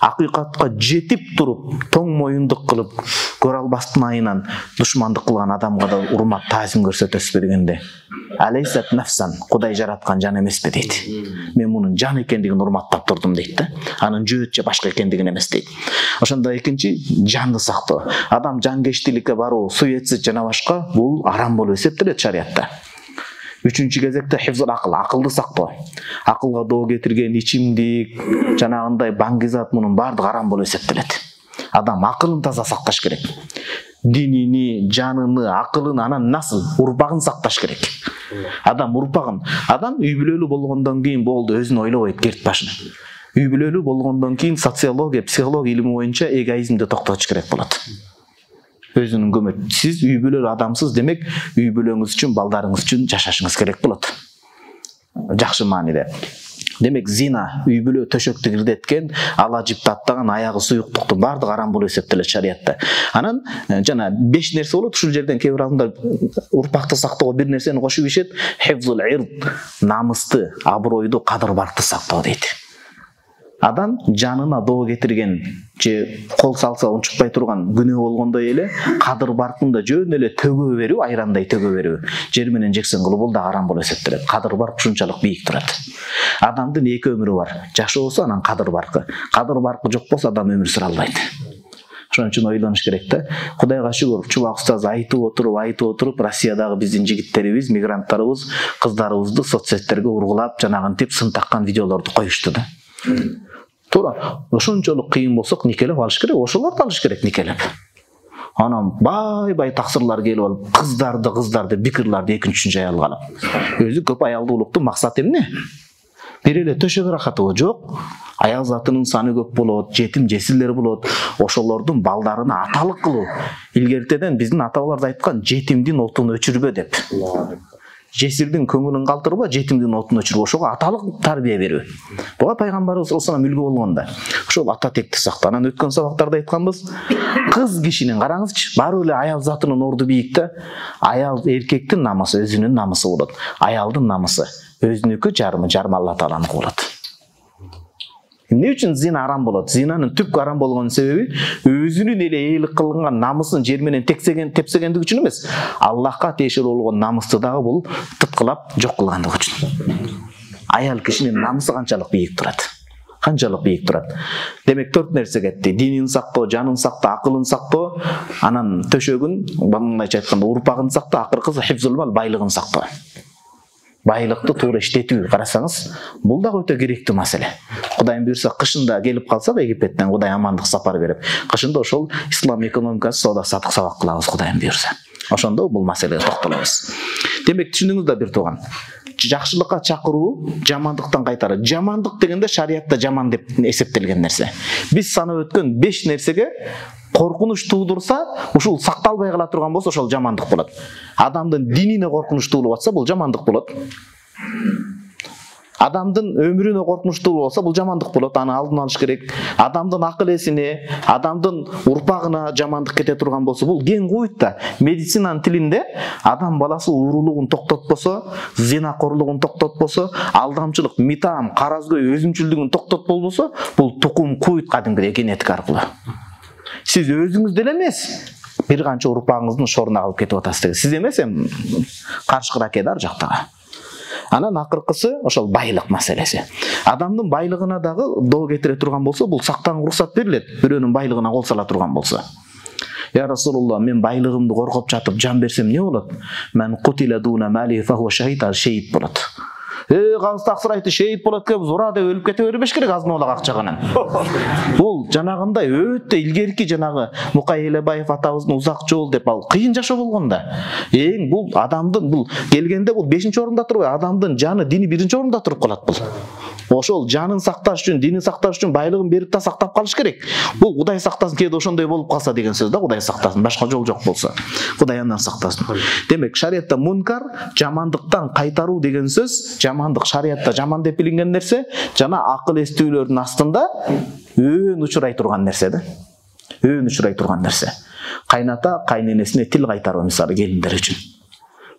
акыйкатка жетип туруп, тоң моюндук кылып, көрө албастын айынан душмандык кылган адамга да урмат, таазим көрсөтөсүз дегенде. Алейсат нафсан, Кудай жараткан жан эмеспи дейт. Мен мунун жан экендигин урматтап турдум дейт да. Анын жөөт же башка экендигин эмес дейт. Ошондо экинчи, жанды сактоо. Адам жанкечтиликке баруу, суетсиз жана башка бул арам болуп эсептелет шариатта. Үчүнчү кезекте хифзул акыл, акылды сактоо. Акылга доо кетирген ичимдик, жанагындай баңгизат, мунун бардыгы арам болуп эсептелет. Адам акылын таза сакташ керек. Динини, жаныны, акылын, анан насыл, урпагын сакташ керек. Адам урпагын, адам үй бүлөлүү болгондон кийин болду, өзүн ойлобойт керт башын. Үй бүлөлүү болгондон кийин социология, психология илими боюнча эгоизмди токтотуш керек болот. Өзүнүн көмөт. Сиз үй бүлөлүү адамсыз, демек үй бүлөңүз үчүн, балдарыңыз үчүн жашашыңыз керек болот. Жакшы мааниде. Демек зина, үй бүлө төшөктү кирдеткен, ала жипти аттаган, аягы суюктуктун бардыгы арам болуп эсептелет шариатта. Анан жана 5 нерсе болот. Ушул жерден кээ бир адамдар урпакты сактоого бир нерсени кошуп ишет. Хифзул ирд, намысты, абройду, кадыр баркты сактоо дейт. Адам жанына доо кетирген же кол салса унчукпай турган күнөө болгондой эле кадыр баркында жөн эле төгө берүү, айрандай төгө берүү, жер менен жексен кылуу бул да арам болуп эсептелет. Кадыр барк ушунчалык бийик турат. Адамдын 2 өмүрү бар. Жашоосу, анан кадыр баркы. Кадыр баркы жок болсо адам өмүр сүрө албайт. Ошон үчүн ойлонуш керек да. Кудайга шүгүр, Чубак устаз айтып отуруп, Россиядагы биздин жигиттерибиз, мигранттарыбыз, кыздарыбызды соцсеттерге ургулап, жанагынтип сын таккан видеолорду коюшту да. Туура, ошончолук кыйын болсок никелеп алыш керек, ошолорду алыш керек никелеп. Анан бай таксырлар келип алып, кыздарды бикирларды экинчи аялга алып. Өзү көп аялды улуктун максаты эмне? Бир эле төшөк рахатыбы жок. Аял затынын саны көп болот, жетим жесирлер болот. Ошолордун балдарына аталык кылуу. Илгертеден биздин ата-бабалар айткан, жетимдин отун өчүрбө деп. Жесирдин көңүлүн калтырба, жетимдин отун өчүрбө. Ошого аталык тарбия берүү. Буга пайгамбарыбыз саллаллаху алейхи үлгү болгон да. Ошол ата текти сактанан өткөн сабактарда айтканбыз. Кыз кишинин караңызчы, баары эле аял затынын орду бийик да. Аял эркектин намысы өзүнүн намысы болот. Аялдын намысы өзүнүкү, жарымы Алла Тааланыкы болот. Эмне үчүн зина арам болот? Зинанын түпкү арам болгон себеби өзүнүн эле ээлик кылган намысын жер менен тепсегендиги үчүн эмес, Аллахка тиешелүү болгон намысты дагы бул тыткылап жок кылгандыгы үчүн. Аял кишинин намысы канчалык бийик турат. Демек 4 нерсе кетти. Динин сактоо, жанын сактоо, акылын сактоо, анан төшөгүн, мындайча айтканда, урпагын сактоо, акыркысы хифзул мал, байлыгын сактоо. Байлыкты туура иштетүү, карасаңыз, бул дагы өтө керектүү маселе. Кудайым буйрса, кышында келип калсак Египеттен Кудай амандык сапар берип, кышында ошол ислам экономикасы, соода сатык сабак кылабыз Кудайым буйрса. Ошондо бул маселеге токтолобуз. Демек түшүндүңүз да бир тууган. Жакшылыкка чакыруу, жамандыктан кайтаруу. Жамандык дегенде шариятта жаман деп эсептелген нерсе. Биз санап өткөн 5 нерсеге коркунуч туудурса, ушул сакталбай кала турган болсо, ошол жамандык болот. Адамдын динине коркунуч туулуп атса, бул жамандык болот. Адамдын өмүрүнө коркунуч туулуп атса, бул жамандык болот. Аны алдын алыш керек. Адамдын акыл эсине, адамдын урпагына жамандык кете турган болсо, бул кең куйт да. Медицинанын тилинде адам баласы уурулугун токтотпосо, зинакорлугун токтотпосо, алдамчылык, митам, каразгөй, өзүмчүлдүгүн токтотпосо, бул тукум куйт кадимгидей генетика аркылуу. Сиз өзүңүз деле эмес, бир канча урпагыңыздын шоруна калып кетип атасыз. Сиз эмес, каршкы ракеда ар жактагы. Анан акыркысы ошол байлык маселеси. Адамдын байлыгына дагы доо кетире турган болсо, бул сактан уруксат берилет. Бирөөнүн байлыгына кол сала турган болсо. Я Расулулла, мен байлыгымды коргоп жатып жан берсем эмне болот? Мен кутила дуна мали фа хуа шахид болот. Кагыз таксыр айтты, шейит болот деп зура деп өлүп кете бербеш керек азмалак акчаганан. Бул жанагындай өтө илгерки жанагы Мукай Элебаев атабыздын узак жол деп ал кыйын жашоо болгон да. Бул адамдын бул келгенде бул 5-орунда турбай, адамдын жаны, дини 1-орунда туруп калат бул. Ошол жанын сакташ үчүн, динин сакташ үчүн байлыгын берип та сактап калыш керек. Бул Кудай сактасын, кээде ошондой болуп калса деген сөз да, Кудай сактасын, башка жол жок болсо. Кудай андан сактасын. Демек, шариятта мункар, жамандыктан кайтаруу деген сөз, жамандык шариятта жаман деп билинген нерсе, жана акыл эстүүлөрдүн астында өөн учурай турган нерсе да. Өөн учурай турган нерсе. Кайната кайненесине тил кайтаруу мисалы келиндер үчүн.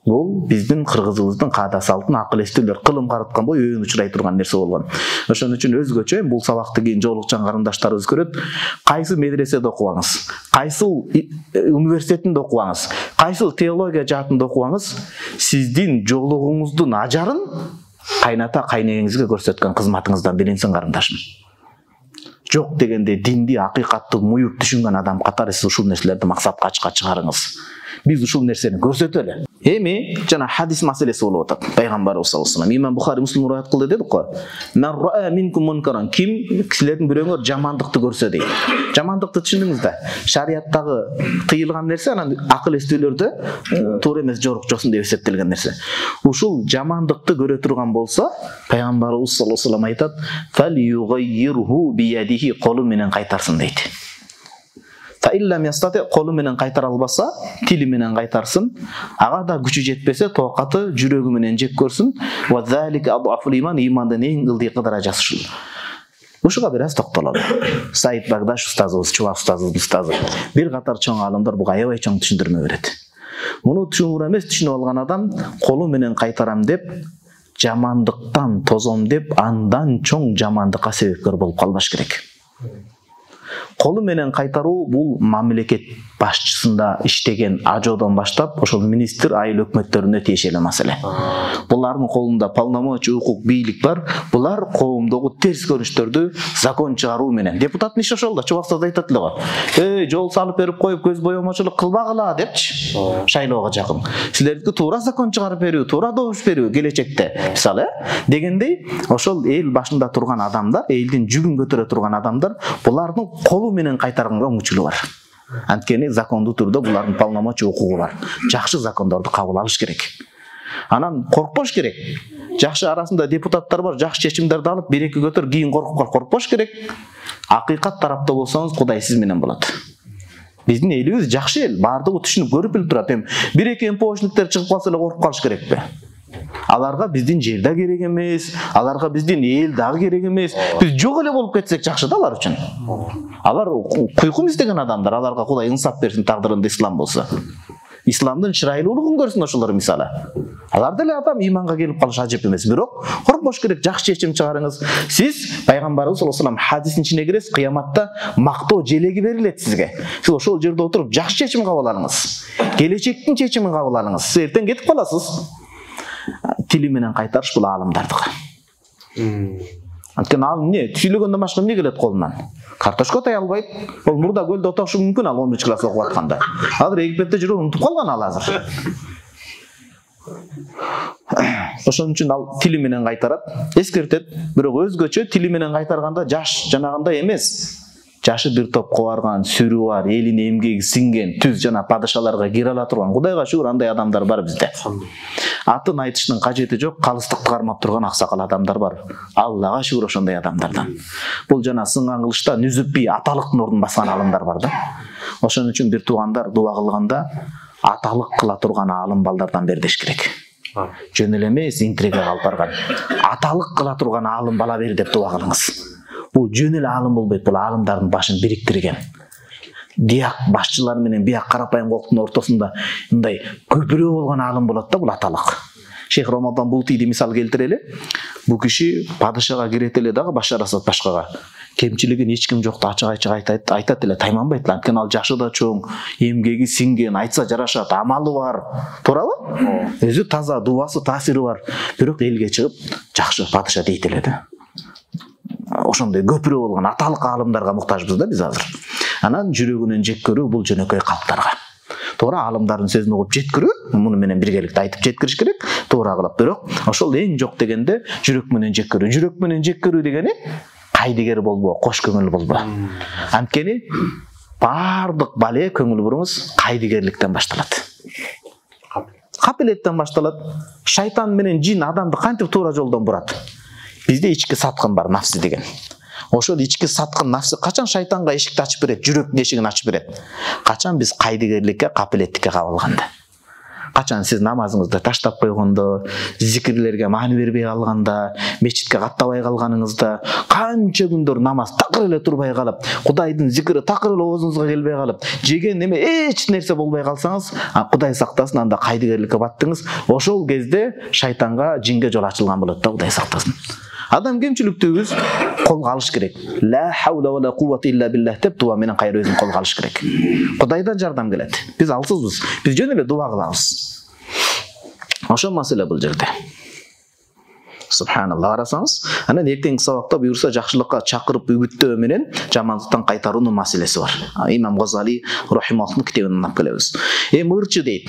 Бул биздин кыргызыбыздын каада салтын акыл эстүүлөр кылым караткан бой өөн учурай турган нерсе болгон. Ошон үчүн өзгөчө бул сабакты кийин жолукчан карындаштарыбыз көрөт. Кайсы медреседе окубаңыз, кайсы университетинде окубаңыз, кайсы теология жаатында окубаңыз, сиздин жолугуңуздун ажарын кайната кайнеңизге көрсөткөн кызматыңыздан билинсин карындашым. Жок дегенде динди, акыйкатты муюп түшүнгөн адам катары сиз ушул нерселерди максатка чыгарыңыз. Биз ушул нерсени көрсөтөлү. Эми жана хадис маселеси болуп атат. Пайгамбарыбыз саллаллаху алейхи вассалам, Имам Бухари, Муслим рivayet кылды дедик го. Мен ра'a минкум мункаран, ким кишилердин бирөөңөр жамандыкты көрсө дейт. Жамандыкты түшүндүңүз да. Шариаттагы тыйылган нерсе, анан акыл эстүүлөрдө туура эмес, жорук жосун деп эсептелген нерсе. Ушул жамандыкты көрө турган болсо, пайгамбарыбыз саллаллаху алейхи вассалам айтат: "Фалюгаййирху биядихи", колу менен кайтарсын дейт. Колу менен кайтара албаса, тили менен кайтарсын. Ага да күчү жетпесе, тоокаты жүрөгү менен жеп көрсүн. Ва залика адъафул иман, имандын эң ылдыйкы даражасы ушул. Ушуга бир аз токтололу. Саид Багдаш устазыбыз, Чубак устазыбыздын устазы. Бир катар чоң аалымдар буга аябай чоң түшүндүрмө берет. Муну түшүнүп эмес, түшүнүп алган адам колу менен кайтарам деп, жамандыктан тозом деп, андан чоң жамандыкка себепкер болуп калбаш керек. Колу менен кайтаруу бул мамлекет башчысында иштеген ажоодон баштап ошол министр, айыл өкмөттөрүнө тиешелүү маселе. Булардын колунда полномочия, укук, бийлик бар. Булар коомдогу терс көрүнүштөрдү закон чыгаруу менен. Депутаттын иши ошол да, Чубаксыз айтат эле го. Жол салып берип коюп көз боёмочулук кылбагыла депчи. Шайлоого жакын. Силердики туура закон чыгарып берүү, туура добуш берүү келечекте. Мисалы, дегендей, ошол эл башында турган адамдар, элдин жүгүн көтөрө турган адамдар, булардын колу менен кайтарганга мүмкүнчүлүгү бар. Анткени закондуу түрдө булардын полномочия укугу бар. Жакшы закондорду кабыл алыш керек. Анан коркпош керек. Жакшы арасында депутаттар бар, жакшы чечимдерди алып, бир эки көтөр кийин коркпош керек. Акыйкат тарапта болсоңуз Кудай сиз менен болот. Биздин элибиз жакшы эл, баардыгы түшүнүп көрүп билип турат. Бир эки МПОшниктер чыгып калса эле коркуп калыш керекпи? Аларга биздин жер да керек эмес, аларга биздин эл дагы керек эмес. Биз жок эле болуп кетсек жакшы да алар үчүн. Алар куйкум издеген адамдар, аларга Кудай инсап берсин, тагдырында ислам болсо. Исламдын чырайлуулугун көрсүн ошолор мисалы. Алар деле адам иманга келип калыш ажып эмес, бирок коркпош керек, жакшы чечим чыгарыңыз. Сиз пайгамбарыбыз саллаллаху алейхи вассалам хадисин ичине киресиз, кыяматта мактоо желеги берилет сизге. Сиз ошол жерде отуруп жакшы чечим кабыл алыңыз. Келечектин чечимин кабыл алыңыз. Сиз эртең кетип каласыз. Тили менен кайтарыш бул аалымдардыкы. Анткени ал эмне? Сүйлөгөндөн башка эмне келет колунан? Картошка тай албайт. Ол мурда көлдө отошу мүмкүн ал 11 класс окуп атканда. Азыр Египетте жүрүп унутуп калган ал азыр. Ошон үчүн ал тили менен кайтарат, эскертет, бирок өзгөчө тили менен кайтарганда жаш жанагындай эмес. Жашы бир топко барган, сүрү бар, элине эмгеги сиңген, түз жана падышаларга кире ала турган. Кудайга шүгүр андай адамдар бар бизде. Атын айтыштын кажети жок, калыстыкты кармап турган аксакал адамдар бар. Аллага шүгүр ошондой адамдардан. Бул жана сынган кылычта нүзүп бий аталыктын ордун баскан аалымдар бар да. Ошон үчүн бир туугандар дуа кылганда аталык кыла турган аалым балдардан бер деш керек. Жөн эле эмес, интрига алып барган. Аталык кыла турган аалым бала бер деп дуа кылыңыз. Бул жөн эле аалым болбойт, бул аалымдардын башын бириктирген. Диак башчылар менен биак карапайым колдун ортосунда мындай көпүрө болгон аалым болот да, бул аталык. Шейх Рамадан Бултиди мисал келтирели. Бул киши падышага кирет эле дагы Башар Асад башкага. Кемчилигин эч ким жокто ачык айтат эле, тайманбайт эле. Анткени ал жашы да чоң, эмгеги сиңген, айтса жарашат, амалы бар. Туурабы? Өзү таза, дуасы, таасири бар. Бирок элге чыгып жакшы падыша дейт эле да. Ошондой көпүрө болгон аталык аалымдарга муктажбыз да биз азыр. Анан жүрөгүнөн жек көрүү бул жөнөкөй калктарга. Туура аалымдардын сөзүн угуп жеткирүү, муну менен биргеликте айтып жеткириш керек, туура кылып. Бирок ошол эң жок дегенде жүрөк менен жек көрүү. Жүрөк менен жек көрүү дегени кайдыгер болбо, кош көңүл болбо. Анткени баардык бале көңүл буруңуз кайдыгерликтен башталат. Капилеттен башталат. Шайтан менен жин адамды кантип туура жолдон бурат? Бизде ички саткын бар, нафсы деген. Ошол ички саткын нафсы качан шайтанга эшикти ачып берет, жүрөктүн эшигин ачып берет? Качан биз кайдыгерликке, капилеттикке кабылганда. Качан сиз намазыңызды таштап койгондо, зикирлерге маани бербей калганда, мечитке каттабай калганыңызда, канча күндөр намаз такыр эле турбай калып, Кудайдын зикири такыр эле оозуңузга келбей калып, жеген неме эч нерсе болбой калсаңыз, Кудай сактасын, анда кайдыгерликке баттыңыз. Ошол кезде шайтанга, жинге жол ачылган болот да, Кудай сактасын. Адам кемчиликтүүбүз, колго алыш керек. Ла хаула ва ла куввата илля биллах деп дуа менен кайра өзүн колго алыш керек. Кудайдан жардам келет. Биз алсызбыз. Биз жөн эле дуа кылабыз. Ошол маселе бул жерде. Субханалла, карасаңыз, анан эртеңки сабакта буюрса жакшылыкка чакырып үгүттөө менен жамандыктан кайтаруунун маселеси бар. Имам Газали рахимахуллахтын китебинен алып келебиз. Ырчы дейт.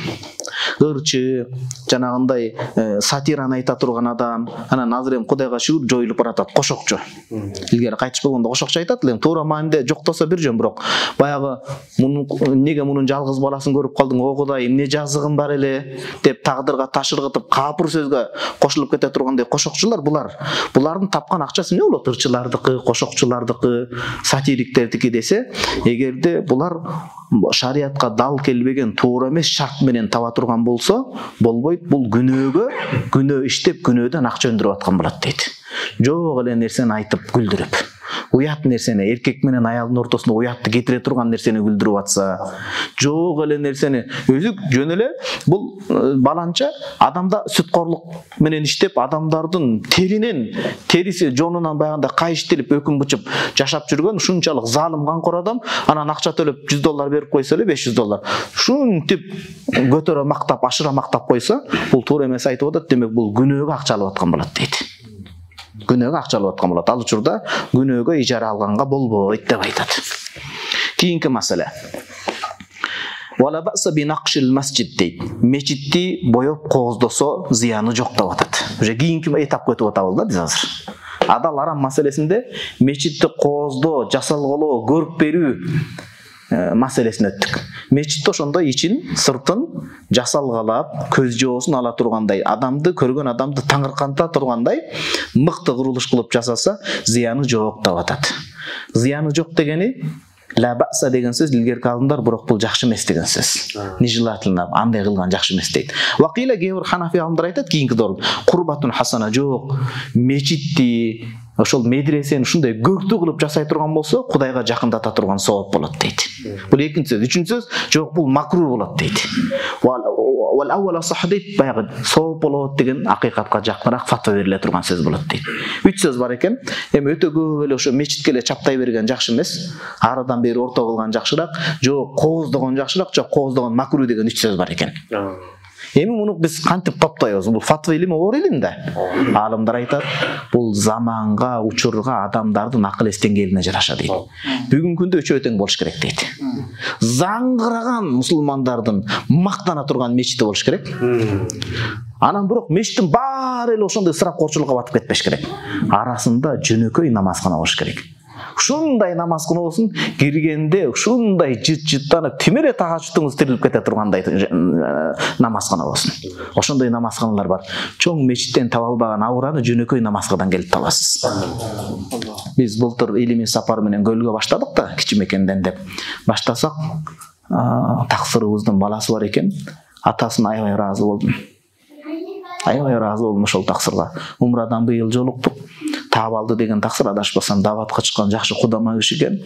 Ырчы, жанагындай сатираны айта турган адам, анан азыр эми Кудайга шүгүр жоюлуп баратат, кошокчу. Илгери кайтыш болгондо кошокчу айтат эле, туура мааниде жоктосо бир жөн, бирок баягы неге мунун жалгыз баласын көрүп калдың, о Кудай, эмне жазыгым бар эле деп тагдырга ташыргытып капыр сөзгө кошулуп кете тургандай кошокчулар булардын тапкан акчасы эмне болот? Ырчылардыкы, кошокчулардыкы, сатириктердики десе, эгерде булар шариатка дал келбеген, туура эмес шарт менен таба турган болсо, болбойт. Бул күнөө иштеп, күнөөдөн акча өндүрүп аткан болот дейт. Жок эле нерсени айтып күлдүрүп, уят нерсени, эркек менен аялдын ортосунда уятты кетире турган нерсени күлдүрүп атса, жок эле нерсени өзү жөн эле бул баланча адамда сүткорлук менен иштеп, адамдардын териси жонунан баягында кайыштелип, өкүм бычып жашап жүргөн ушунчалык залым канкор адам, анан акча төлөп $100 берип койсо эле, $500 шунтип көтөрө мактап, ашыра мактап койсо, бул туура эмес айтып атат. Демек бул күнөөгө акча алып аткан болот дейт. Күнөөгө акча алып аткан болот. Ал учурда күнөөгө ижара алганга болбойт деп айтат. Кийинки маселе. Вала баса би нақшил масжид дейт. Мечитти боёп кооздосо зыяны жок деп атат. Уже кийинки этапка өтүп атабыз да биз азыр. Адал арам маселесинде мечитти кооздоо, жасалгылоо, көрүп берүү маселесин өттүк. Мечитте ошондой ичин сыртын жасалгалап, көз жоосун ала тургандай, адамды көргөн адамды таңырканта тургандай мыкты курулуш кылып жасаса, зыяны жок деп атат. Зыяны жок дегени ла баса деген сөз илгерки алдымдар, бирок бул жакшы эмес деген сөз. Нежелательно, андай кылган жакшы эмес дейт. Вакила кээ-бир ханафи алдымдар айтат, кийинки доор курбатун хасана жок, мечитти, ошол медресени ушундай көктүү кылып жасай турган болсо, Кудайга жакындата турган сооп болот дейт. Бул экинчи сөз. Үчүнчү сөз, жок бул макрур болот дейт. Вал аввала сах дейт, баягы сооп болот деген акыйкатка жакыныраак фатва бериле турган сөз болот дейт. Үч сөз бар экен. Эми өтө көп эле ошо мечитке эле чаптай берген жакшы эмес. Арадан бери орто кылган жакшыраак, жок кооздогон жакшыраак, жок кооздогон макрур деген үч сөз бар экен. Эми муну биз кантип топтойбуз? Бул фатва илими оор илим да. Алымдар айтат, бул заманга, учурга, адамдардын акыл эс деңгээлине жараша дейт. Бүгүнкү күндө үчөө тең болуш керек дейт. Заңгыраган мусулмандардын мактана турган мечити болуш керек. Анан бирок мечиттин баары эле ошондой ысырапкорчулукка батып кетпеш керек. Арасында жөнөкөй намазкана болуш керек. Ушундай намазкана болсун, киргенде ушундай жыт-жыттанып, тимере тагачтыңыз тирилип кете тургандай намазкана болсун. Ошондой намазканалар бар. Чоң мечиттен таба албаган абураны жөнөкөй намазкадан келип табасыз. Биз былтыр илимий сапар менен көлгө баштадык да, кичимекенден деп. Баштасак, таксырыбыздын баласы бар экен. Атасына аябай ыраазы болдум. Аябай ыраазы болдум ошол таксырга. Умрадан быйыл жолуктук. Таап алды деген таксыр, адашпасам даватка чыккан жакшы кудама киши экен.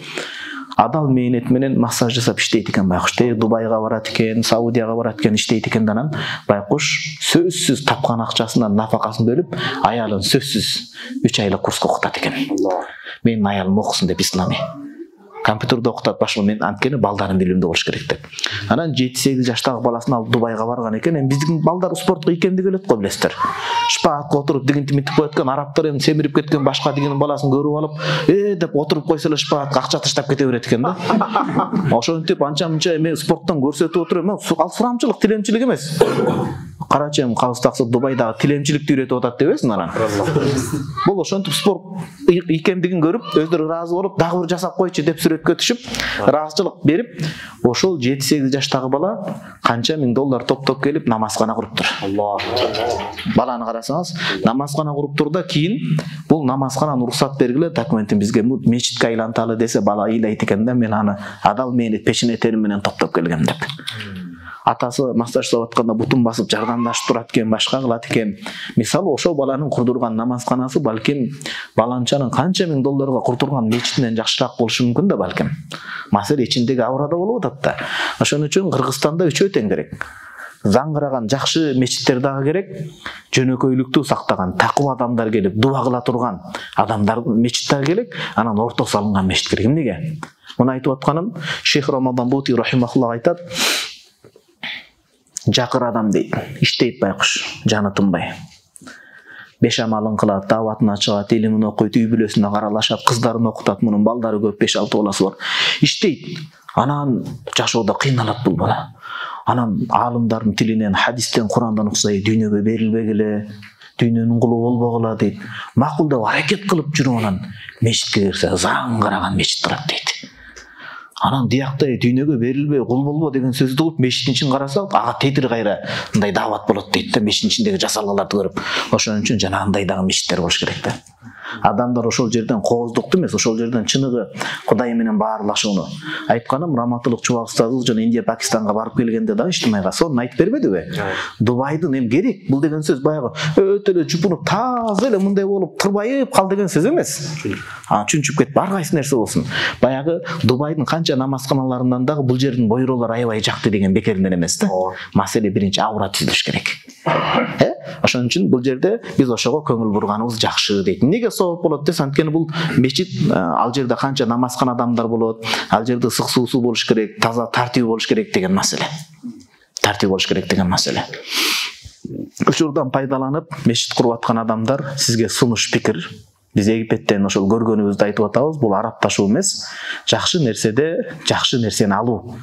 Адал мээнет менен массаж жасап иштейт экен байкуш. Дубайга барат экен, Саудияга барат экен, иштейт экен данан. Байкуш сөзсүз тапкан акчасынан нафакасын бөлүп, аялын сөзсүз 3 айлык курска окутат экен. Менин аялым окусун деп ислами. Компьютерде окутат башка, мен анткени балдарын билимдүү болуш керек деп. Анан 7-8 жаштагы баласын алып Дубайга барган экен. Эми биздин балдар спортко икемди келет го, билесиздер. Шпаатка отуруп дигинтип митип коет экен, арабтар эми семирип кеткен башка дигинин баласын көрүп алып, деп отуруп койсо эле шпаатка акча таштап кете берет экен да. Ошентип анча-мынча эми спорттон көрсөтүп отуруп, ал сурамчылык, тилемчилик эмес. Карачы эми кабыз таксы Дубайдагы тилемчиликти үйрөтүп атат дебесиң анан. Бул ошентип спорт икемдигин көрүп, өздөрү ыраазы болуп, дагы бир жасап койчу деп сүрөткө түшүп, ыраазычылык берип, ошол 7-8 жаштагы бала канча миң доллар топтоп келип намазкана куруптур. Баланы карасаңыз, намазкана куруптур да, кийин бул намазкананы уруксат бергиле, документин бизге мечитке айланталы десе, бала ыйлайт экен да, мен аны адал мээнет пешене терим менен топтоп келгем деп. Атасы массаж жасап атканда бутун басып жардамдашып турат экен, башка кылат экен. Мисалы ошол баланын курдурган намазканасы балким баланчанын канча миң долларга курдурган мечитинен жакшыраак болушу мүмкүн да балким. Маселе ичиндеги абурада болуп атат да. Ошон үчүн Кыргызстанда үчөө тең керек. Заңгыраган жакшы мечиттер дагы керек. Жөнөкөйлүктү сактаган, такыба адамдар келип дуа кыла турган адамдар мечит дагы керек. Анан орто салынган мечит керек. Эмнеге? Муну айтып атканым Шейх Рамадан Бути рахимахуллах айтат. Жакыр адам дейт, иштейт байкуш, жаны тынбай. Бешамалын кылат, даватына чыгат, илимин окуйт, үй бүлөсүнө каралашат, кыздарын окутат, мунун балдары көп, 5-6 баласы бар. Иштейт. Анан жашоодо кыйналат бул бала. Анан алымдардын тилинен, хадистен, Курандан уксай, дүйнөгө берилбегиле, дүйнөнүн кулу болбогула дейт. Макулдап аракет кылып жүрүп анан мечитке кирсе, заңгыраган мечит турат дейт. Анан дияктай дүйнөгө берилбей, кул болбо деген сөздү угуп, мечиттин ичин караса, ага тетир кайра мындай дават болот дейт да, мечиттин ичиндеги жасалгаларды көрүп. Ошон үчүн жанагындай дагы мечиттер болуш керек да. Адамдар ошол жерден кооздукту эмес, ошол жерден чыныгы Кудай менен баарлашууну. Айтканым, Раматылык Чубак устазыбыз жана Индия, Пакистанга барып келгенде дагы иштимайга сонун айтып бербедиби? Дубайдын эми керек, бул деген сөз баягы өтө эле жупунуп, таза эле мындай болуп, тырбайып кал деген сөз эмес. Чүнчүп кетип, ар кайсы нерсе болсун. Баягы Дубайдын канча намазканаларынан дагы бул жердин бойролору аябай жакты деген бекеринен эмес да. Маселе биринчи аура түзүлүш керек. Ошон үчүн бул жерде биз ошого көңүл бурганыбыз жакшы дейт. Эмнеге сооп болот десе, анткени бул мечит, ал жерде канча намазкана адамдар болот, ал жерде ысык суусу болуш керек, таза тартиби болуш керек деген маселе. Тартиби болуш керек деген маселе. Учурдан пайдаланып мечит куруп аткан адамдар сизге сунуш пикир. Биз Египеттен ошол көргөнүбүздү айтып атабыз. Бул арабташуу эмес, жакшы нерседе жакшы нерсени алуу.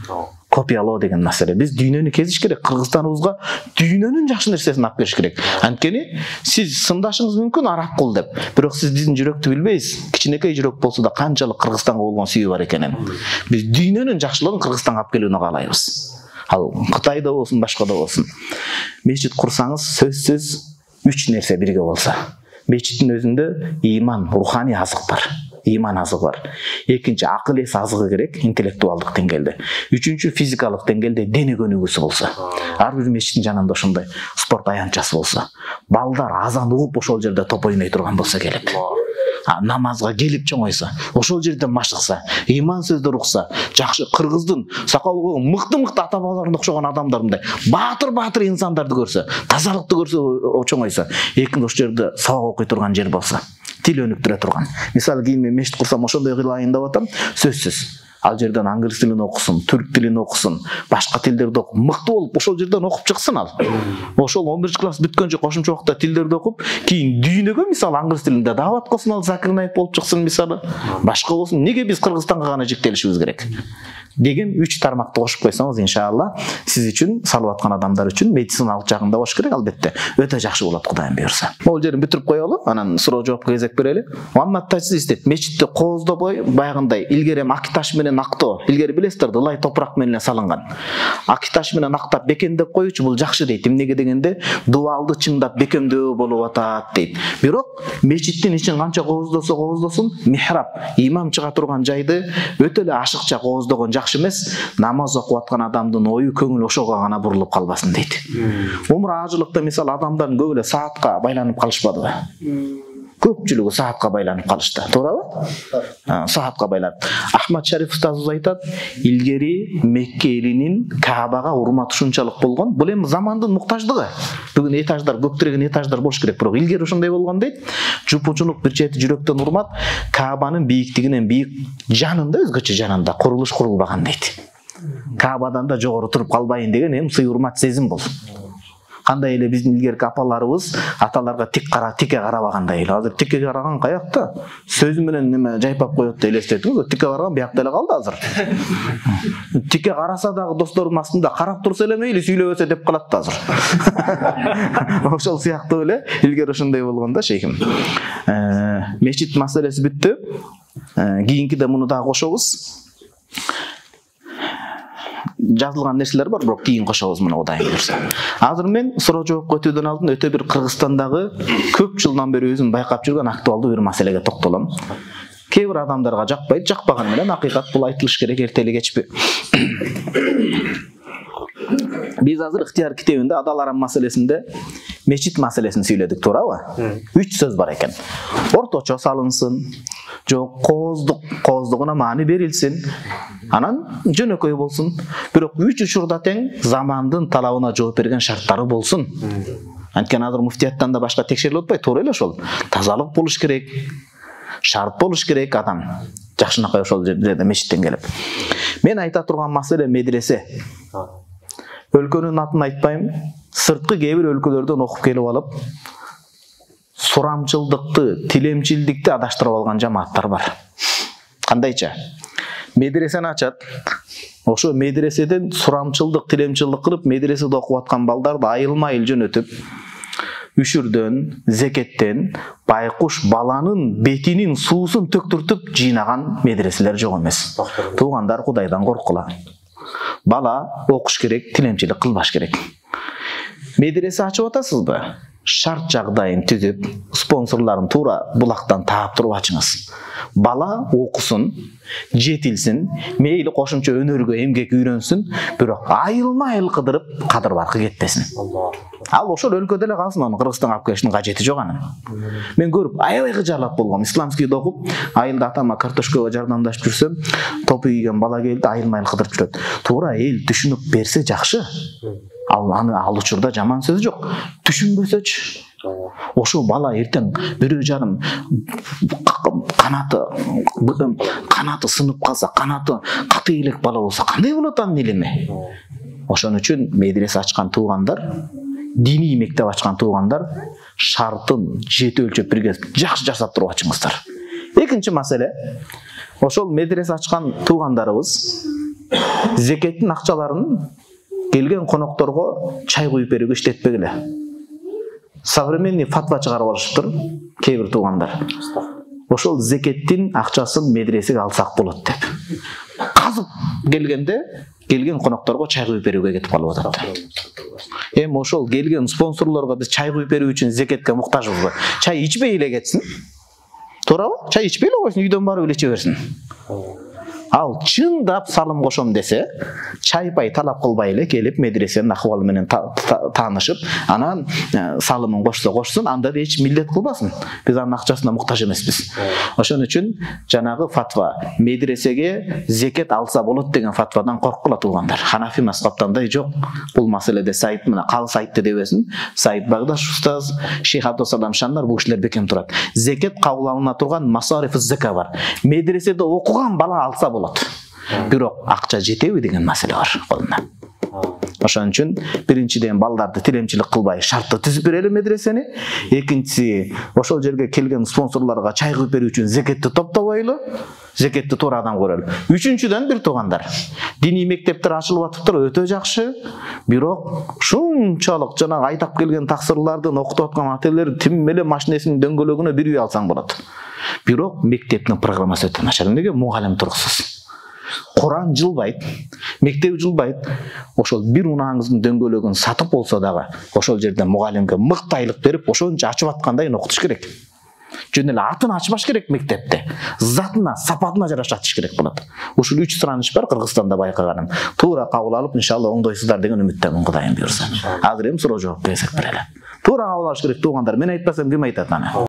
копиялоо деген маселе. Биз дүйнөнү кезиш керек, Кыргызстаныбызга дүйнөнүн жакшы нерсесин алып келиш керек. Анткени сиз сындашыңыз мүмкүн араб кул деп, бирок сиз биздин жүрөктү билбейсиз. Кичинекей жүрөк болсо да канчалык Кыргызстанга болгон сүйүү бар экенин. Биз дүйнөнүн жакшылыгын Кыргызстанга алып келүүнү каалайбыз. Ал Кытайда болсун, башка да болсун. Мечит курсаңыз сөзсүз 3 нерсе бирге болса. Мечиттин өзүндө иман, руханий азык бар. Иман азыгы бар. Экинчи акыл эс азыгы керек, интеллектуалдык деңгээлде. Үчүнчү физикалык деңгээлде дене көнүгүүсү болсо. Ар бир мечиттин жанында ошондой спорт аянтчасы болсо. Балдар азан угуп ошол жерде топ ойной турган болсо келип. Намазга келип чоңойсо, ошол жерде машыкса, иман сөздөр укса, жакшы кыргыздын сакалы мыкты-мыкты ата-бабаларына окшогон адамдарындай баатыр инсандарды көрсө, тазалыкты көрсө чоңойсо, экинчи ошол жерде сабак окуй турган жер болсо, тил өнүктүрө турган. Мисалы кийин мен мешит курсам ошондой кылайын деп атам, сөзсүз. Ал жерден англис тилин окусун, түрк тилин окусун, башка тилдерди окуп, мыкты болуп ошол жерден окуп чыксын ал. Ошол 11-класс бүткөнчө кошумча убакта тилдерди окуп, кийин дүйнөгө мисалы англис тилинде даават кылсын, ал Закир Наик болуп чыксын мисалы. Башка болсун. Неге биз Кыргызстанга гана жиктелишибиз керек? Деген 3 тармакты кошуп койсоңуз, иншалла, сиз үчүн, салып аткан адамдар үчүн медициналык жагында болуш керек, албетте. Өтө жакшы болот, Кудайым буйрса. Могул жерин бүтүрүп коелу, анан суроо жоопко кезек берели. Маммат Тажиз дейт, мечитти кооздобой, баягындай илгери аки таш менен актоо, илгери билесиздер, ылай топурак менен салынган. Аки таш менен актап бекемдеп коюучу бул жакшы дейт. Эмнеге дегенде, дуалды чыңдап бекемдөө болуп атат дейт. Бирок мечиттин ичин канча кооздосун, михраб, имам чыга турган жайды өтө эле ашыкча кооздогон жакшы эмес, намаз окуп аткан адамдын ою, көңүлү ошого гана бурулуп калбасын дейт. Умра ажылыкта мисалы адамдардын көп эле саатка байланып калышпадыбы? Көпчүлүгү саатка байланып калышты, туурабы? Саатка байланып. Ахмад Шариф устазыбыз айтат, илгери Мекке элинин Каабага урматы ушунчалык болгон. Бул эми замандын муктаждыгы. Бүгүн этаждар, көктөргөн этаждар болуш керек, бирок илгери ошондой болгон дейт. Жупучунук бир чети жүрөктөн урмат Каабанын бийиктигинен бийик жанында, өзгөчө жанында курулуш курулбаган дейт. Каабадан да жогору туруп калбайын деген эми сый урмат сезим бол. Кандай эле биздин илгерки апаларыбыз аталарга тикке карабагандай эле. Азыр тикке караган каякта? Сөзү менен неме жайпап коет деп элестетиңиз. Тикке караган биякта эле калды азыр. Тикке караса дагы достордун астында карап турса эле мейли, сүйлөбөсө деп калат да азыр. Ошол сыяктуу эле илгери ошондой болгон да шейхим. Мечит маселеси бүттү. Кийинкиде муну дагы кошобуз. Жазылган нерселер бар, бирок кийин кошобуз муну Кудайым буйрса. Азыр мен суроо жоопко өтүүдөн алдын өтө бир Кыргызстандагы көп жылдан бери өзүм байкап жүргөн актуалдуу бир маселеге токтолом. Кээ бир адамдарга жакпайт, жакпаганы менен акыйкат бул айтылыш керек, эртели кечпи. Биз азыр ыктыяр китебинде Адал Арам маселесинде мечит маселесин сүйлөдүк, туурабы? 3 сөз бар экен. Орточо салынсын, жок кооздугуна маани берилсин, анан жөнөкөй болсун. Бирок 3 учурда тең замандын талабына жооп берген шарттары болсун. Анткени азыр муфтияттан да башка текшерилип атпайт, туура эле ошол. Тазалык болуш керек, шарт болуш керек адам. Жакшынакай ошол жерде мечиттен келип. Мен айта турган маселе медресе. Өлкөнүн атын айтпайм, сырткы кээ бир өлкөлөрдөн окуп келип алып, сурамчылдыкты, тилемчилдикти адаштырып алган жамааттар бар. Кандайча? Медресени ачат. Ошо медреседен сурамчылдык, тилемчилдик кылып, медреседе окуп аткан балдарды айылма-айыл жөнөтүп, үшүрдөн, зекеттен байкуш баланын бетинин суусун төктүртүп жыйнаган медреселер жок эмес. Туугандар, Кудайдан корккула. Бала окуш керек, тилемчилик кылбаш керек. Медресе ачып атасызбы? Шарт жагдайын түзүп, спонсорлорун туура булактан таап туруп ачыңыз. Бала окусун, жетилсин, мейли кошумча өнөргө эмгек үйрөнсүн, бирок айылма-айыл кыдырып, кадыр баркы кетпесин. Ал ошол өлкөдө эле калсын, аны Кыргызстанга алып келиштин кажети жок анын. Мен көрүп, аябай кыжаалат болгом. Исламскийде окуп, айылда атама картошкага жардамдашып жүрсөм, топу кийген бала келди, айылма-айыл кыдырып жүрөт. Туура эл түшүнүп берсе жакшы. Ал учурда жаман сөз жок. Түшүнбөсөчү. Ошо бала эртең бирөө жарым канаты сынып калса, канаты каты элек бала болсо кандай болот анын илими? Ошон үчүн медресе ачкан туугандар, диний мектеп ачкан туугандар шартын жети өлчөп бирге жакшы жасап туруп ачыңыздар. Экинчи маселе, ошол медресе ачкан туугандарыбыз зекеттин акчаларын келген конокторго чай куюп берүүгө иштетпегиле. Современный фатва чыгарып алышыптыр кээ бир туугандар. Ошол зекеттин акчасын медресеге алсак болот деп. Казып келгенде келген конокторго чай куюп берүүгө кетип калып атат. Эми ошол келген спонсорлорго биз чай куюп берүү үчүн зекетке муктажбызбы? Чай ичпей эле кетсин. Туурабы? Чай ичпей эле койсун, үйдөн барып эле иче берсин. Ал чындап салым кошом десе, чай пай талап кылбай эле келип медресенин акыбалы менен таанышып, анан салымын кошсун, анда да эч милдет кылбасын. Биз анын акчасына муктаж эмеспиз. Ошон үчүн жанагы фатва медресеге зекет алса болот деген фатвадан корккула туугандар. Ханафи мазхабтандай жок. Бул маселеде Саид мына калыс айтты дебесин. Саид Багдаш устаз, Шейх Абдусалам Шандар бул кишилер бекем турат. Зекет кабыл алына турган масариф зека бар. Медреседе окуган бала алса болот. Бирок акча жетеби деген маселе бар колунда. Ошон үчүн биринчиден балдарды тилемчилик кылбай шартты түзүп берели медресени. Экинчиси, ошол жерге келген спонсорлорго чай куюп берүү үчүн зекетти топтобойлу, зекетти туура адам көрөлү. Үчүнчүдөн бир туугандар, диний мектептер ачылып атыптыр, өтө жакшы. Бирок ушунчалык жанагы айтап келген таксырлардын окутуп аткан ателер тим эле машинесинин дөңгөлөгүнө бир үй алсаң болот. Бирок мектептин программасы өтө начар. Эмнеге? Мугалим туруксуз. Куран жылбайт, мектеп жылбайт. Ошол бир унааңыздын дөңгөлөгүн сатып болсо дагы, ошол жерде мугалимге мыкты айлык берип, ошончо ачып аткандай окутуш керек. Жөн эле атын ачпаш керек мектепте. Затына, сапатына жараша ачыш керек болот. Ушул 3 сұраныш бар Кыргызстанда байкаганым. Туура кабыл алып, иншалла оңдойсуздар деген үмүттөмүн, Кудайым буйрса. Азыр эми суроо жооп берсек берели. Туура кабыл алыш керек туугандар. Мен айтпасам ким айтат аны?